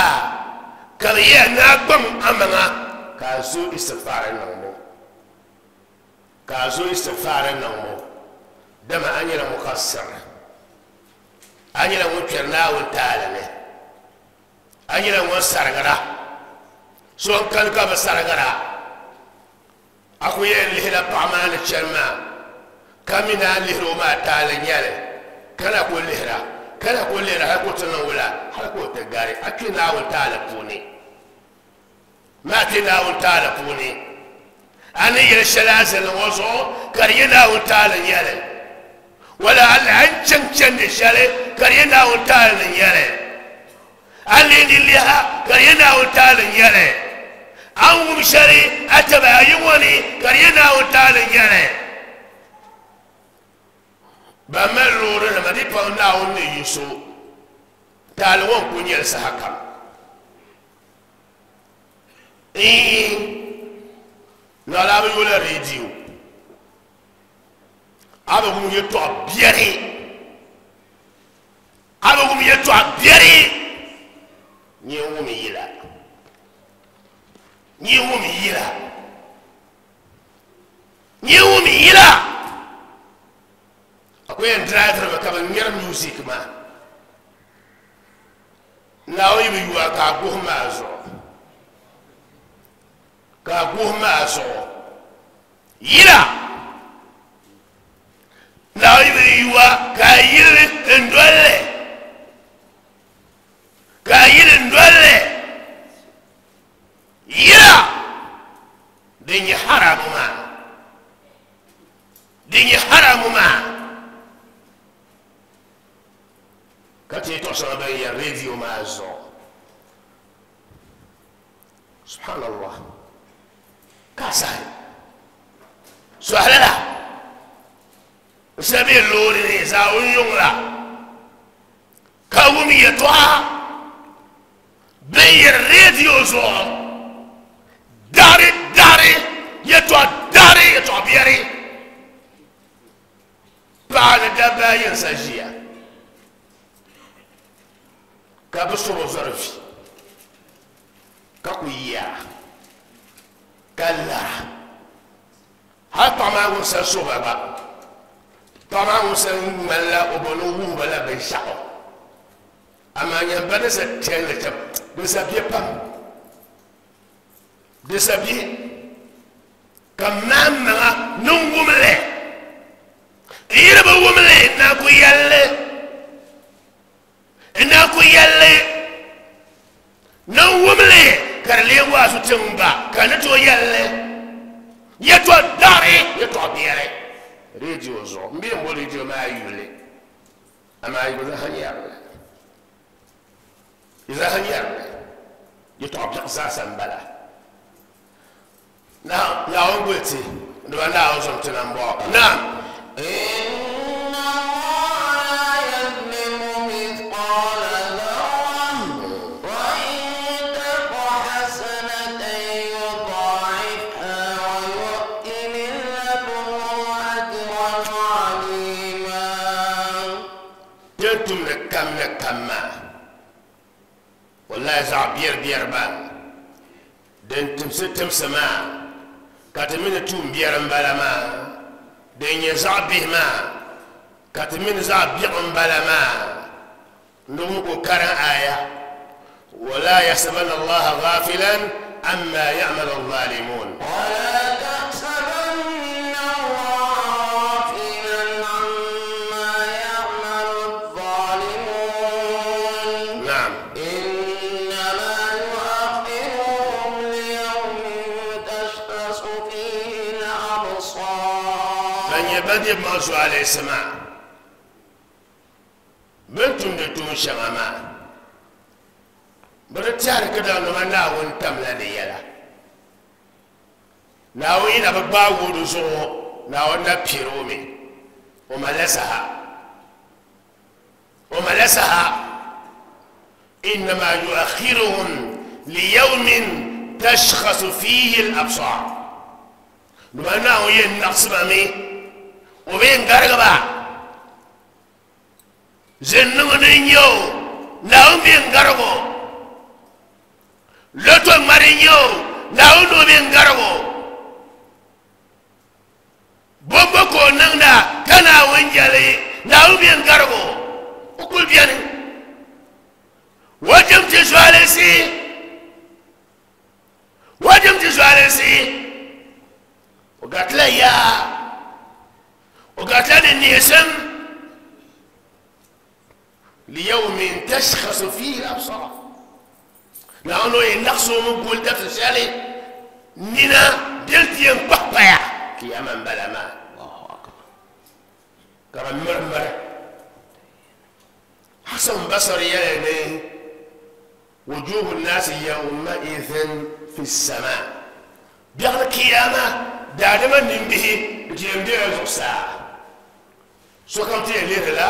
kariya na gbam amanga ka zo istighfar nan mo ka zo istighfar nan mo dama anyira mukassar anyira mo kirna won taala ne anyira mo sargara so kan ka ba sargara akuye lihla pamana chelma kamina lihro ma taala nyale kana ko lihra kana ko lihra har ko tan wala har ko ta gare akina wa taala puni ma tina wa taala puni ani yel shalazal wazo kariyana wa taala nyale wala al an chan chan de shale kariyana wa taala nyale ali liha kariyana wa taala nyale an wum shari ataba yumoni kariyana wa taala nyale بمرور لما دي باونا وني يسو تالون كونيل سحكم إيه نالا بيولا راديو أبو مو يتو بيري أبو مو يتو بيري Nyɛ yila nyɛ wum yila nyɛ wum yila akwai yan driver ba ka ban ŋmɛri music maa Naawuni yi bi yuwa ka a guhi maa zuɣu ka a guhi maa zuɣu yila Naawuni yi bi yuwa ka a yili n dolli ka a yili n dolli yila din nyɛ haramu maa din nyɛ haramu maa ka ti tɔɣa shɛŋa ban yɛri radio maa zuɣu subhanallah ka sahi sɔhili la n shɛba bɛ loori ni zaawun yuŋ la ka wum yɛltɔɣa bin yɛri radio zuɣu dari dari yɛltɔɣa dari yɛltɔɣa biɛri paɣa ni dabba ayi n sa ʒiya ka bi soro zɔri vi ka ku yaa ka lara hali paɣa maa ŋun sa so ba gba paɣa maa ŋun sa ŋmanila o bo ni o wuhi ba la binshaɣu amaa nyɛba ni sa tɛnli chɛm di sa bɛ pam di sa bɛ ka maa maŋa ni wumli n yiri bi wumli na ku yɛlli na ku yɛlli ni wumli ka di lee waasu tiŋba ka ni tooi yɛlli yɛltɔɣa dari yɛltɔɣa biɛri radio zuɣu n bɛ n bo radio maa yuli amaa yi bi zaŋ nyɛrili yi zaŋ nyɛrili yɛltɔɣa biɛɣu zaasa n bala Naawuni guli ti dama Naawuni zom ti na n bɔŋɔ naam. إن الله لا يظلم مثقال ذرة وإن تك حسنة يضاعفها ويؤت من لدنه أجرا عظيما. Din tumdi kam ni kam maa wallahi zaɣ biɛri biɛri maa din timsi timsi maa ka ti mini tuun biɛri n bala maa din nyɛ zaɣ bihi maa ka ti mini zaɣ biɛɣu n bala maa ni ko karin aya wala yahsabanna allaha ghafilan amma ya'malu adh-dhalimun. ولا تحسبن الله غافلا عما يعمل الظالمون نعم إنما يؤخرهم ليوم تشخص فيه الأبصار. Ban nyɛ ban dib maŋ zuɣu alayhi maa bɛ ni tumdi tuun shɛŋa maa bɛ di tɛhiri ka daŋdama Naawuni tamla di yɛla Naawuni yi na bi gbaagi o di zuɣu Naawuni na piɛri o mi o malila saha o malila saha innama yuakhiruhum liyawmin tashkhasu fihi al-absar dama Naawuni yɛn naɣisi ba mi o bɛ yɛn garigi ba zinniŋ ni n nyɛ o Naawuni bɛ yɛn garigi o loto ŋmari n nyɛ o Naawuni ni o bɛ yɛn garigi o bombo ka o niŋda ka Naawuni jɛli Naawuni bɛ yɛn garigi o o kuli bɛni o dim ti zualinsi o dim ti zualinsi o garitila yaa o garitila ni neesim liyawmin tashkhasu fihi al-absar Naawuni o yɛn naɣisi o mi guli dabisi shɛli nina din ti yɛn kpahi paya kiyama n bala maa ka bi miri miri Hasan Basri yɛli ni wujuhu nnaasi yawmaidhin fi samaa biɛɣuni kiyama daadama nimbihi di ti yɛn bela zuɣusaa sokam ti yɛn lihirila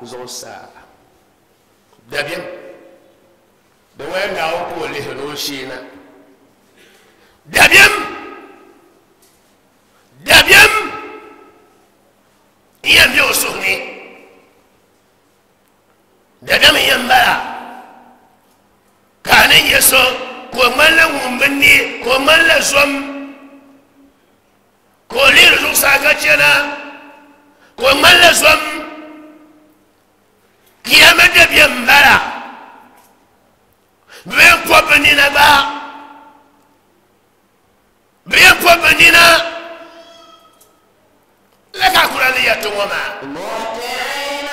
zuɣusaa dabiɛm di waya Naawuni ka o lihiri o shee na dabiɛm dabiɛm n yɛn bɛ o suhu ni dabiɛm n yɛn bala ka Ko ŋmanila ŋun bi ne ka o ŋmanila zom ka o lihiri zuɣusaa ka chana ka o ŋmanila zom kiyama dabiɛm n bala bɛ yɛn pɔbi bɛ nina gba bɛ yɛn pɔbi bɛ nina la ka Kurani yɛrti ŋɔ maa. مهطعين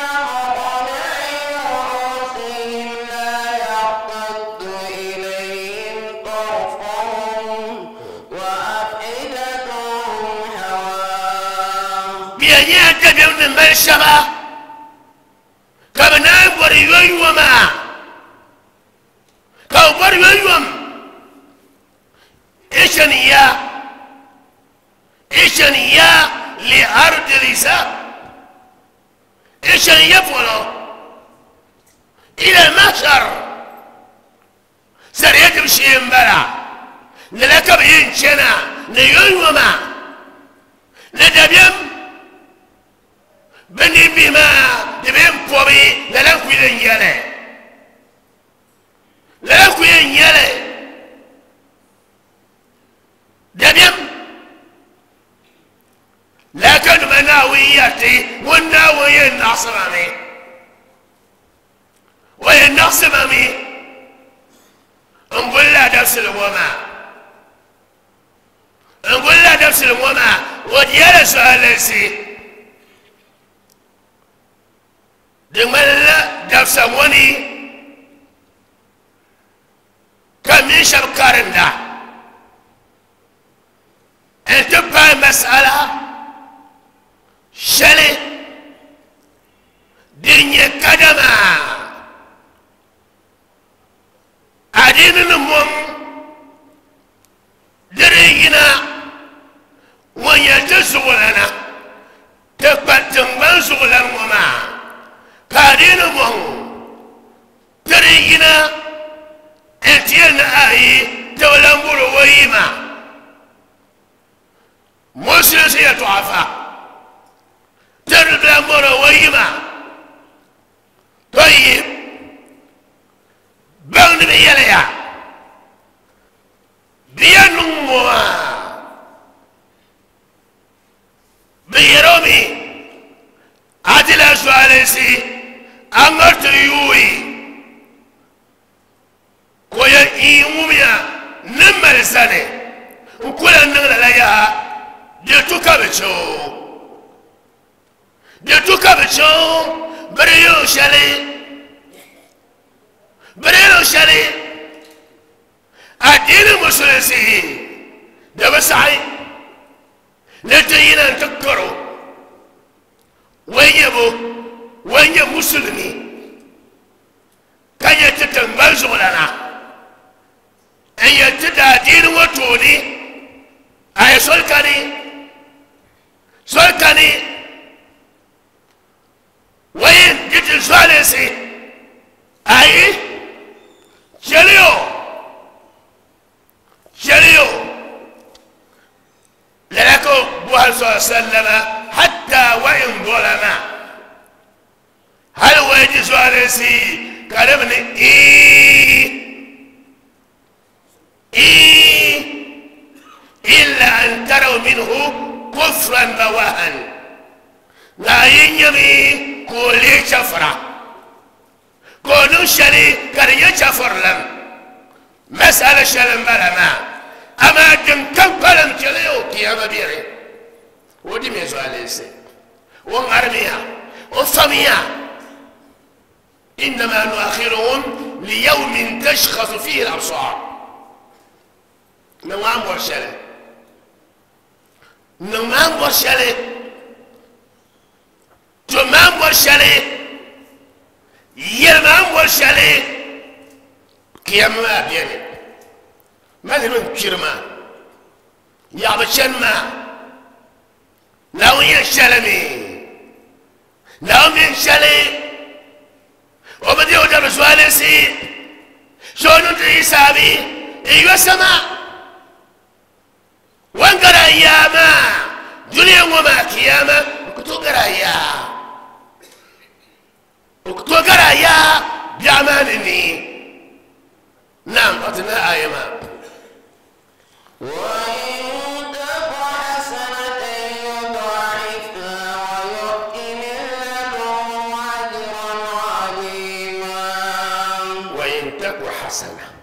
مقنعي رؤوسهم لا يرتد إليهم طرفهم وأفئدتهم هواء. Bɛ yɛn nyɛla dabiɛm ni mali shɛba ka bɛ naan bɔri yoyoma ka bɛ bɔri yoyom ishaniya ishaniya li ardi lisa ishaniya polo ila mahshar sariya dib shee n bala lala ka bɛ yɛn chana ni yoyoma ni dabiɛm bɛ ninbihi maa di bɛ yɛn pɔbi lala n kuli yɛn nyɛli lala n kuli yɛn nyɛli dabiɛm la ka nima Naawuni yɛriti ŋun Naawuni yɛn naɣisima mi o yɛn naɣisima mi n guli la dabisili ŋɔ maa n guli la dabisili ŋɔ maa o diyala zuɣulinsi di ŋmanila dabisa ŋɔ ni ka mini shɛba karinda n ti paai masala shɛli din nyɛ kadama adiini ni mɔm di di yina ŋun yɛn ti zuɣulana ti kpa tiŋgbani zuɣulani ŋɔ maa ka adiini mɔŋ ti di yina n ti yɛli ni ayi ti bi lan bɔri o yima musulinsi yɛltɔɣa fa ti di lan bɔri o yima tɔyib baŋdi bi yɛliya bɛ yɛn niŋ ŋɔ maa bɛ yɛri o mi a ti la zuɣulinsi a ŋariti yuui ka o yɛn ii ŋumiya ni mali sani n ku lan niŋ lala yaha di tu ka bɛ che o di tu ka bɛ che o bɛ di yɛl o shɛli bɛ di yɛl o shɛli adiini musulinsi di bi saɣi ni ti yina n ti karo o nyɛ bo o nyɛ musulimi ka nyɛ ti tiŋgbani zuɣulana n yɛn ti da adiini ŋɔ tooni a yi soli kani soli kani o yɛn di ti zuɣulinsi ayi chɛli o chɛli o lala ka o buhari sɔlɔ sallama hatta wa in zɔlama hali o yi di zuɣulinsi ka di bi ni ii ii illa an taraw minhu kufran bawahan nka a yi nyɛmi ka o lee chɛfura ka o niŋ shɛli ka di nyɛ chɛfurilim masala shɛli n bala maa amaa din kam kpalim chɛli o kiyama biɛri o di mi zuɣulinsi o ŋarimiya o famiya innama nuakhiruhum liyawmin tashkhasu fihi al-absar niŋ maa n bɔri shɛli niŋ maa n bɔri shɛli to maa n bɔri shɛli yɛli maa n bɔri shɛli kiyama maa biɛni ma niriba n kpiri maa yaɣabi chani maa Naawuni yɛn shɛli mi Naawuni mi n shɛli o bi deei o dabili zuɣulinsi so o niŋ ti hisaabi n yo sama wan gara yaa maa duniya ŋɔ maa kiyama n ku tooi gara yaa n ku tooi gara yaa biɛɣu maa ni ni نعم أتنا آيما وإن تك حسنة يضاعفها ويؤت من لدنه أجرا عظيما وإن تك حسنة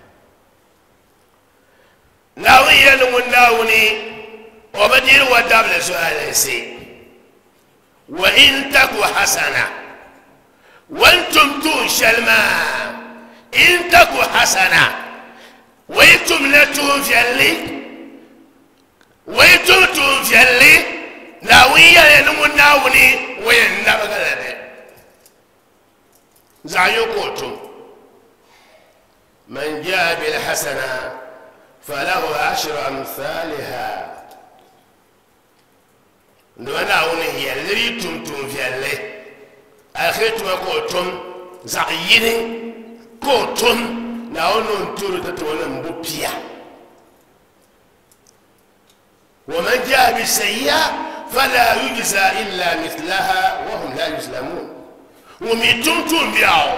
ناوية ناوني وبدير ودابل سؤال سي وإن تك حسنة وانتم تنشلما إن تك حسنة وانتم لا تنفعلي وانتم تنفعلي ناوية ناوني وين نبغلبي زعيوكوتم من جاء بالحسنة فله عشر أمثالها ناوني هي اللي تم تنفعلي آخرتم كوتم زعيني كوتم ناونو نتورو تتوانا مبوبيا ومن جاء بالسيئة فلا يجزى إلا مثلها وهم لا يظلمون وميتم بياو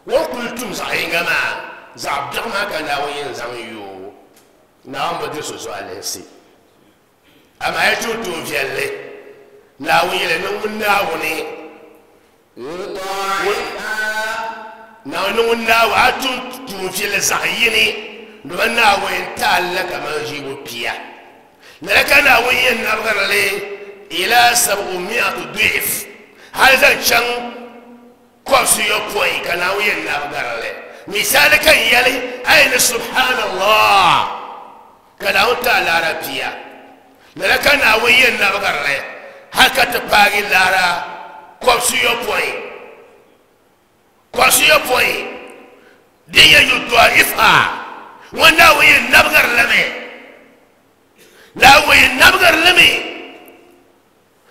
وقلتم زعين جماعة زعبدما كان وين زعيو نعم بدي سؤال سي أما يتوتم في اللي ناوي لنون ناوني يضاعفها ناونو ناو أتوتم في اللي زعيني نونا وين تعلق ما يجيبوا بيا لكن وين نبغى لي إلى سبعمائة ضعف هذا كان كوسي يقوي كان وين نبغى لي مثال كان يلي أين سبحان الله كان تعالى ربيا لكن وين نبغى لي هكذا تبغى لارا كوسي يقوي كوسي يقوي دي يضعفها وانا وين نبغى لي لا وين نبغر لمي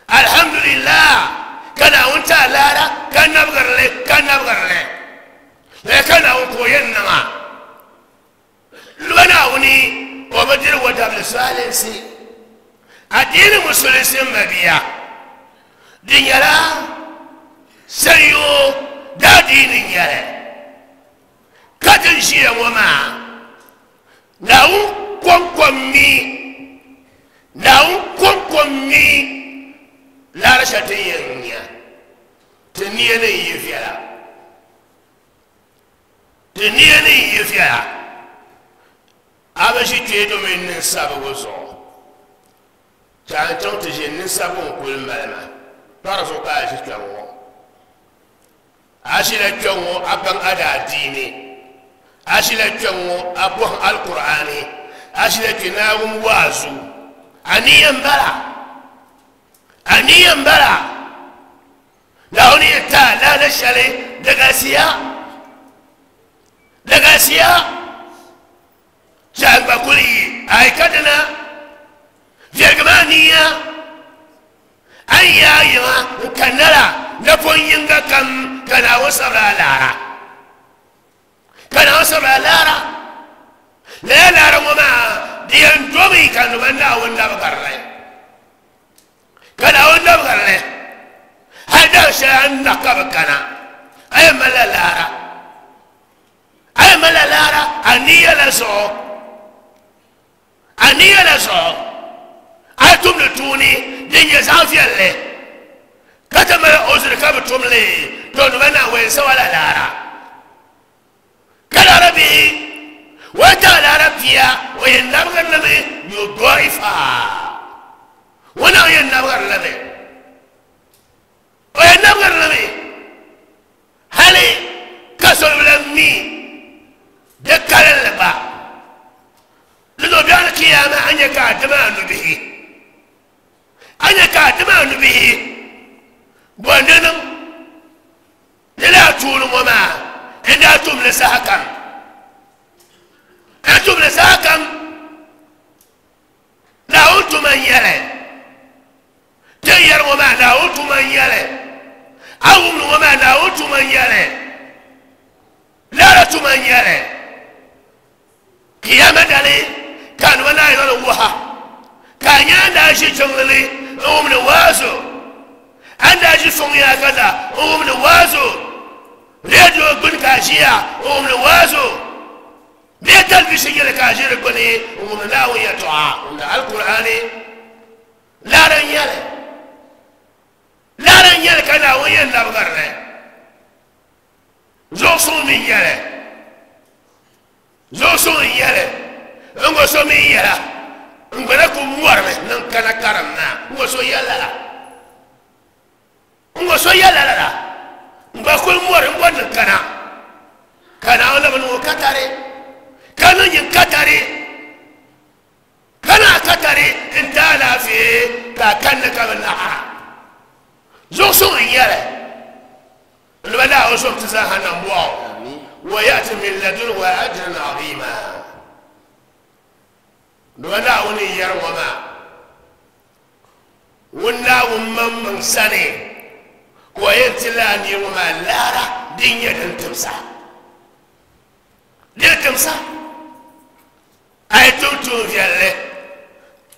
الحمد لله كان وانت لا لا كان نبغر لي كان نبغر لي لكن وين ما لنا وني وبدر ودبل سالسي الدين المسلم مبيا دنيا سيو دا دين يلا كتن شيء وما ناو كم كم مي ناو كم كم مي لا رشتين يا تنيني يفيا تنيني يفيا أبشي تيدو من نساب وزو كان تجي نساب كل ملما تعرفوا كاش كانوا أشيل كانوا أبان أدا ديني أشيل كانوا أبوه القرآن أشيل كناهم وازو أني أمبلا أني أمبلا لا تا لا نشالي دغاسيا دغاسيا جاب كلي أي كدنا جرمانيا أي أيما كنلا نفون ينغا كم كنا وصل لارا كنا وصل لارا لا لارا وما ديان دومي كانوا منا ونا بقرة كنا ونا بقرة هذا شيء نقب كنا أي ملا لارا أي ملا لارا أني لا سو أني لا سو أتوم لتوني دنيا زافية لي كتم أوزر كابتوم لي دون منا وين سوا لا لارا كلا ربي وتعالى ربيا وين نبغى نبي يضعفها وانا وين نبغى نبي وين نبغى نبي هل كسر لمي ذكر اللبا لذو بيان القيامة أن يكاتمان به أن يكاتمان به بوننم لا تقول وما إن أنتم لسحكم أنتم لساكم لا أنتم من يلي تير وما لا أنتم من يلي أو وما لا أنتم من يلي لا أنتم من يلي قيامة دلي كان ولا يلوها كان ينداشي شغلي أو من واسو أنداشي صنيا كذا أو من واسو ريديو بن كاشيا أو من واسو Bee talibishin yɛli ka a ʒi di gbuni n-wumdi Naawuni yɛltɔɣa n-wumdi Alkur'aani. Laara n-nyɛli. Laara n-nyɛli ka Naawuni yɛn labigiri li. Zuɣusuŋ mi n-nyɛli. Zuɣusuŋ n-nyɛli. N gba so mi yɛla. N gba na ku mɔrimi ni n kana karim maa. N gba so yɛli lala. N gba so yɛli lala. N gba kuli mɔri n bɔri ni n kana. Ka Naawuni labi niŋ o katari. Ka niŋ nyin katari. Ka na katari n ti alaafee ka a kanni ka bi naɣira. Zuɣusuŋ n-nyɛli. N ba Naawuni zom ti zaaha nambɔɣu. Wa ya'ti min ladunhu ajran azima. N ba Naawuni n yɛri ŋɔ maa. Ŋun Naawuni maŋmaŋ sani ka o yɛn ti laa nir ŋɔ maa laara din nyɛ din timsa. Din timsa. A yi tum tuun viɛlli,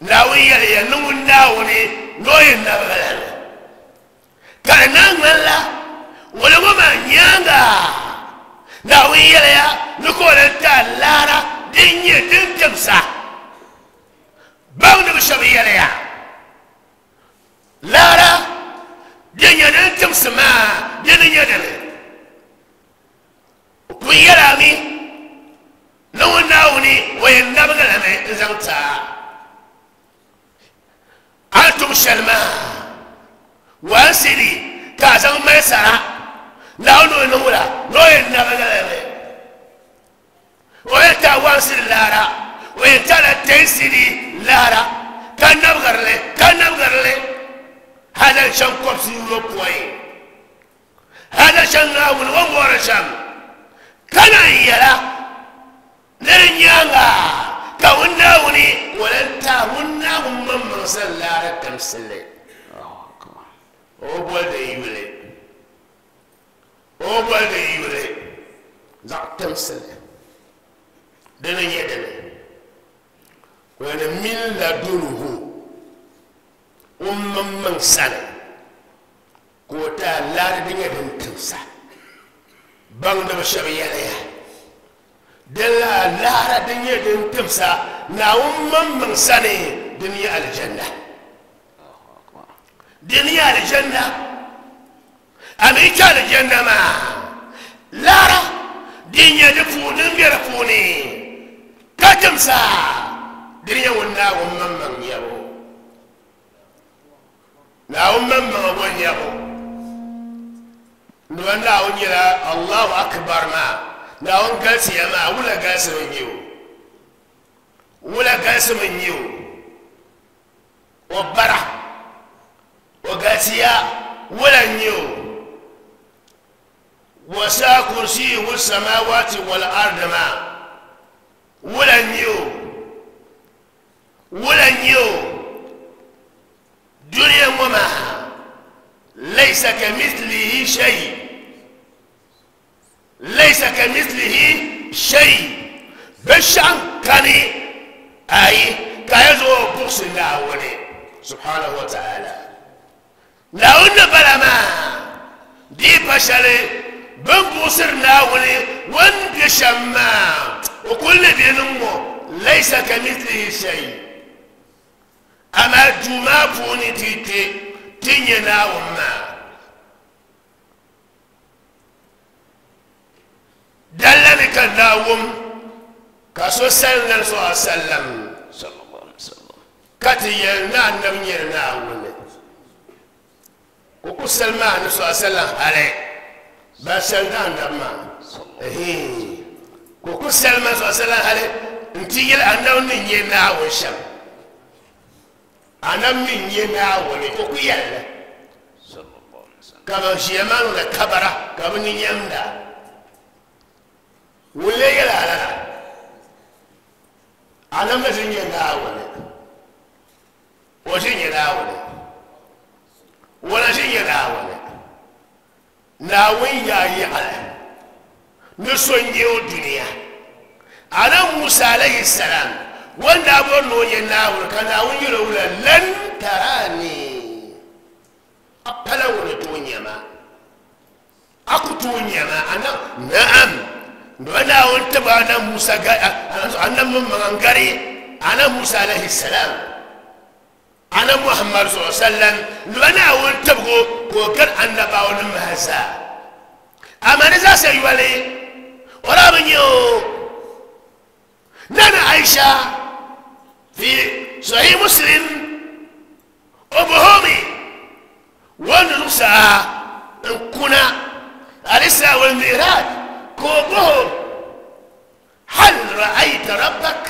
Naawuni yɛliya ni ŋun Naawuni ni o yɛn nabigila li. Ka di naan ŋmanila wula ŋɔ maa nyaaŋa, Naawuni yɛliya ni ka o lan ti a laara din nyɛ din timsa. Baŋdiba shɛba yɛliya, laara din nyɛ din timsi maa di ni nyɛ dini. O pun yɛli a mi ni ŋun Naawuni o yɛn nabigila mi n-zaŋ ti a. A ni tum shɛli maa, wansidi ka a zaŋ mali sara, Naawuni o niŋ wula ni o yɛn nabigila mi. O yɛn ti a wansidi laara, o yɛn ti a la tɛnsidi laara, ka nabigiri li, ka nabigiri li hali n-chaŋ kɔbisi yopɔin. Hali n-chaŋ Naawuni o ni bɔri shɛm, ka naan yɛla ni di nyaaŋa ka ŋun Naawuni o lan ti a ŋun Naawuni maŋmaŋ sani laara timsili. O boli di yuli. O boli di yuli zaɣ timsili. Di ni nyɛ dini? O yɛli min ladunhu, o maŋmaŋ sani ka o ti a laara din nyɛ din timsa. Baŋdiba shɛba yɛliya, din la laara din nyɛ din timsa Naawuni maŋmaŋ sani din nyɛ alijanna. Din nyɛ alijanna. A mi kpe alijanna maa, laara din nyɛ di puuni, din be di puuni ka timsa, din nyɛ ŋun Naawuni maŋmaŋ nyɛbu. Naawuni maŋmaŋ o nyɛbu. Nima Naawuni nyɛla Allahu Akbar maa. Naawuni galisiya maa, wula galisimi n-nyɛ o? Wula galisimi n-nyɛ o? O bara, o galisiya, wula n-nyɛ o? Wasa kursiyuhu samawati wal ardi maa, wula n-nyɛ o? Wula n-nyɛ o? Dunia ŋɔ maa, laysa kamithlihi shay, laysa kamithlihi shay, binshɛɣu n-kani ayi ka a yɛn zaŋ o buɣisi Naawuni subhanahu wa ta'ala. Naawuni ni bala maa di pa shɛli bɛ ni buɣisiri Naawuni o ni be shɛm maa, o kul ni be ni ŋ-ŋɔ, laysa kamithlihi shay. Amaa duu maa puuni ti kpe ti nya Naawuni maa. Dalla ni ka Naawuni ka so sali Nabi sallallahu alaihi wasallam ka ti yɛli ni Annabi nyɛla Naawuni. Ka o ku sali maa Nabi sallallahu alaihi wasallam hali ban sali ni Annabi maa. Ka o ku sali maa sallallahu alaihi wasallam hali nti yɛli Annabi ni nyɛ Naawuni shɛm. Annabi ni nyɛ Naawuni ka o ku yɛli li. Ka ban ʒiya maa niŋdi kabara ka bɛ ni nyamda. Ŋun lee yɛli a lala? Annabi na ʒi nyɛ Naawuni. O ʒi nyɛ Naawuni. O na ʒi nyɛ Naawuni. Naawuni yaa yaɣili ni so n-nyɛ o dunia. Annabi Musa alayhi salam o ni daa bɔri ni o nyɛ Naawuni ka Naawuni yɛl o wula, Lan tarani, a pala ŋun ni tooi nya ma. A ku tooi nya ma. Annabi, Naam, Naawuni tibi Annabi Musa Annabi Maŋgari Annabi Musa alayhi salam Annabi Muhammad sallallahu alaihi wasallam nduba Naawuni tibigu ka o gari annabawanima maa zaa amaa ni zaasa yoli o daa bi nyɛ o Nana Aisha fi Sahih Muslim o bohomi wanda zuɣusaa n kuna al-Isra wal Mi'raj ka o boho hal ra'ayta rabbak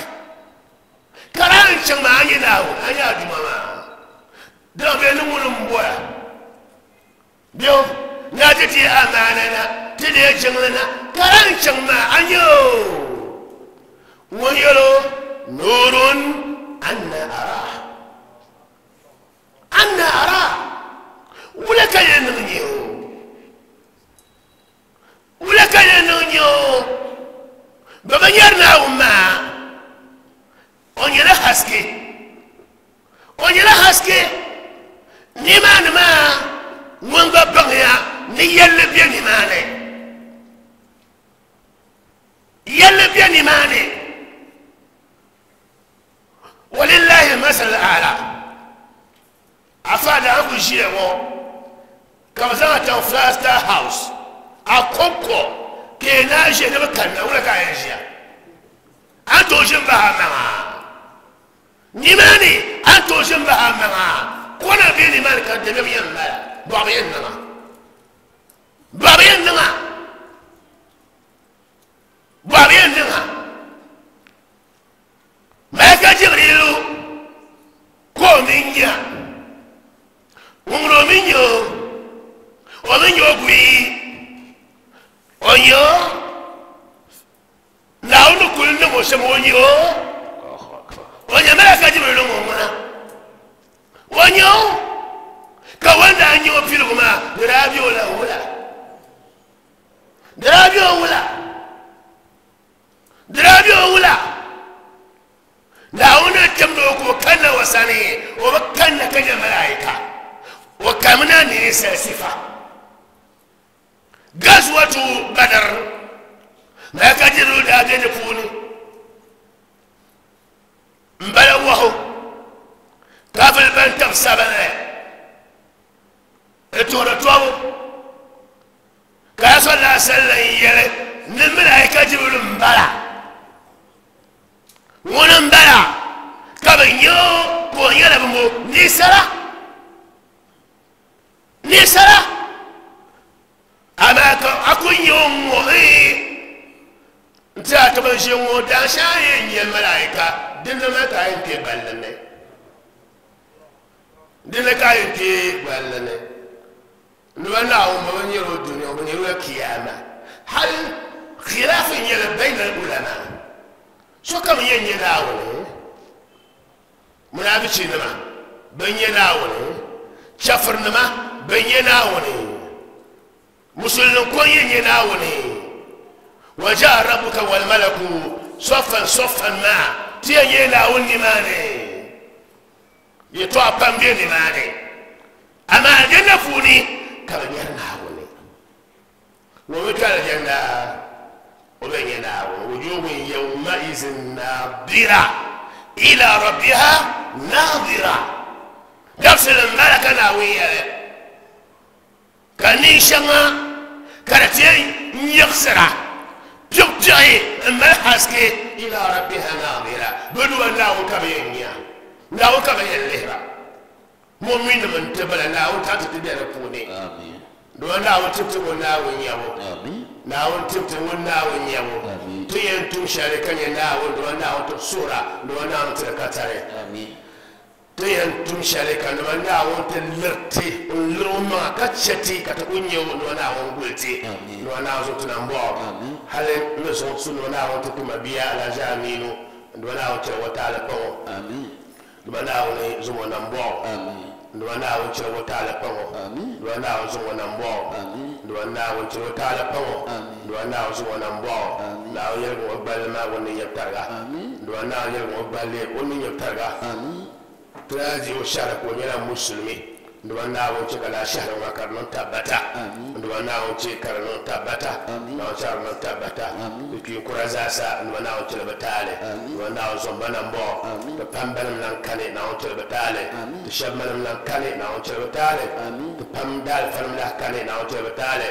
kara n chaŋ maa a nyɛ Naawuni a nyɛ a Duuma maa dina bɛ ni ŋuni n bɔra bɛ na ti ti amaana na ti deei jiŋli na kara n chaŋ maa a nyɛ o ŋun yɛlo nurun anna ara anna ara wula ka yɛn niŋ nyɛ o wula ka yɛn niŋ nyɛ o bɛ bi nyɛri Naawuni maa o nyɛla haske o nyɛla haske nimaani maa ŋun gba baŋya ni yɛlli bɛ nimaani yɛlli bɛ nimaani walillahi masal ala afa da an ku ʒiya ŋɔ ka bi zaŋ a chaŋ Flagstaff House a kɔŋko ka yi naa ʒiya ni bi kanna wula ka a yɛn ʒiya an tooi ʒi n bahi a maŋa nimaani an tooi ʒi n bahi a maŋa kona bɛ nimaani ka dabiɛm yɛn mala bɔɣu yɛn niŋa bɔɣu yɛn niŋa bɔɣu yɛn niŋa Malaika Jibrilu ko o mi nya ŋun o mi nyɛ o o mi nyɛ o guyi o nyɛ o Naawuni kuli niŋ o shɛm o nyɛ o o nyɛ Malaika Jibrilu ŋun ŋuna o nyɛ o ka wanda a nyɛ o piligu maa di daa bɛ o la wula di daa bɛ o wula di daa bɛ o wula Naawuni timdi o ka o kanna o sani o bi kanna ka nyɛ malaika o kamina ninsal sifa gazwatu Badr Malaika Jibrilu daa bɛ di puuni n bala wahu kafiri ban tabi sabinli n tuhiri tɔbu ka ya sallallahu alaihi wasallam yɛli ni Malaika Jibrilu n bala ŋuni n bala ka bi nyɛ o ka o nyɛla bimbo ninsala ninsala amaa ka a ku nyɛ o ŋɔ n ti a ti bi ʒi ŋɔ daanshɛŋa yɛn nyɛ malaika dinni maa ka a yɛn kpɛ balli ni dinni ka a yɛn kpɛ balli ni noba Naawuni bi nyɛla o dunia bi nyɛla kiyama hali khilaaf nyɛla bayna al-ulama sokam yɛn nyɛ Naawuni munaafichinima bɛ nyɛ Naawuni chafirinima bɛ nyɛ Naawuni musulin ko yɛn nyɛ Naawuni wa jaa rabbuka wal malaku saffan saffan maa ti yɛn nyɛ Naawuni nimaani yɛtɔɣa pam bɛ nimaani amaa aljanna puuni ka bi nyɛri Naawuni ŋun bi kpɛ aljanna o bɛ nyɛ Naawuni wujuhun yawmaizin naadira ila rabbiha naadira dabisili n bala ka Naawuni yɛli ka nin shɛŋa ka di ti yɛn yiɣisira piɣipiɣi n mali haske ila rabbiha naadira bi duba Naawuni ka bi yɛn nya Naawuni ka bi yɛn lihira mu'minim n ti bala Naawuni ta ti ti bɛ di puuni duba Naawuni tibiti ŋun Naawuni nyɛbu Naawuni tibiti ŋun Naawuni nyɛbu ti yɛn tum shɛli ka nyɛ Naawuni duba Naawuni ti suhura duba Naawuni ti di ka tari ti yɛn tum shɛli ka duba Naawuni ti liriti n liri o maŋa ka chɛ ti ka ti ku nyɛ o duba Naawuni guli ti duba Naawuni zuɣu ti na m-bɔɣu hali n ni zuɣu su duba Naawuni ti tuma bia Alhaji Aminu duba Naawuni chɛri o taali kpaŋ o duba Naawuni zuɣu na m-bɔɣu duba Naawuni chɛri o taali kpaŋ o duba Naawuni zuɣu na m-bɔɣu duba Naawuni chɛri o taali kpaŋ o duba Naawuni zuɣu na m-bɔɣu Naawuni yɛligi o gballi maa o ni nyɛbu tariga duba Naawuni yɛligi o gballi o ni nyɛbu tariga ti daa di o shɛhira ka o nyɛla musulimi N Naawuni chɛ ka laa shɛhira ŋɔ ka di niŋ tabbata. N Naawuni chɛ ka di niŋ tabbata. Naawuni chɛ ka di niŋ tabbata. Ti kpiinkura zaasa n Naawuni chɛ li bi taali. N Naawuni zɔmba nambɔɣu. Ti pam banim lan kani Naawuni chɛ li bi taali. Ti shɛba manim lan kani Naawuni chɛ li bi taali. Ti pam daalifanim lahi kani Naawuni chɛ li bi taali.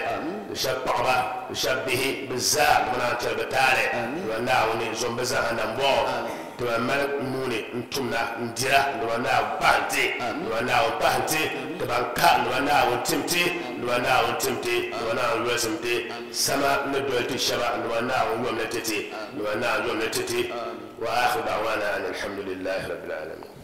Ti shɛba paɣaba, ti shɛba bihi, bɛ zaa n Naawuni chɛ li bi taali. N Naawuni zɔmba zaaha nambɔɣu. Ti ban mali nuuni n tumda n dira n Naawuni pahi ti. N Naawuni pahi ti. Ti ban ka n Naawuni tim ti. N Naawuni tim ti. N Naawuni yolisim ti. Sama ni doli ti shɛba n Naawuni yomli ti ti. N Naawuni yomli ti ti. Wa akhiru da'wana an alhamdulillahi rabbil alamin.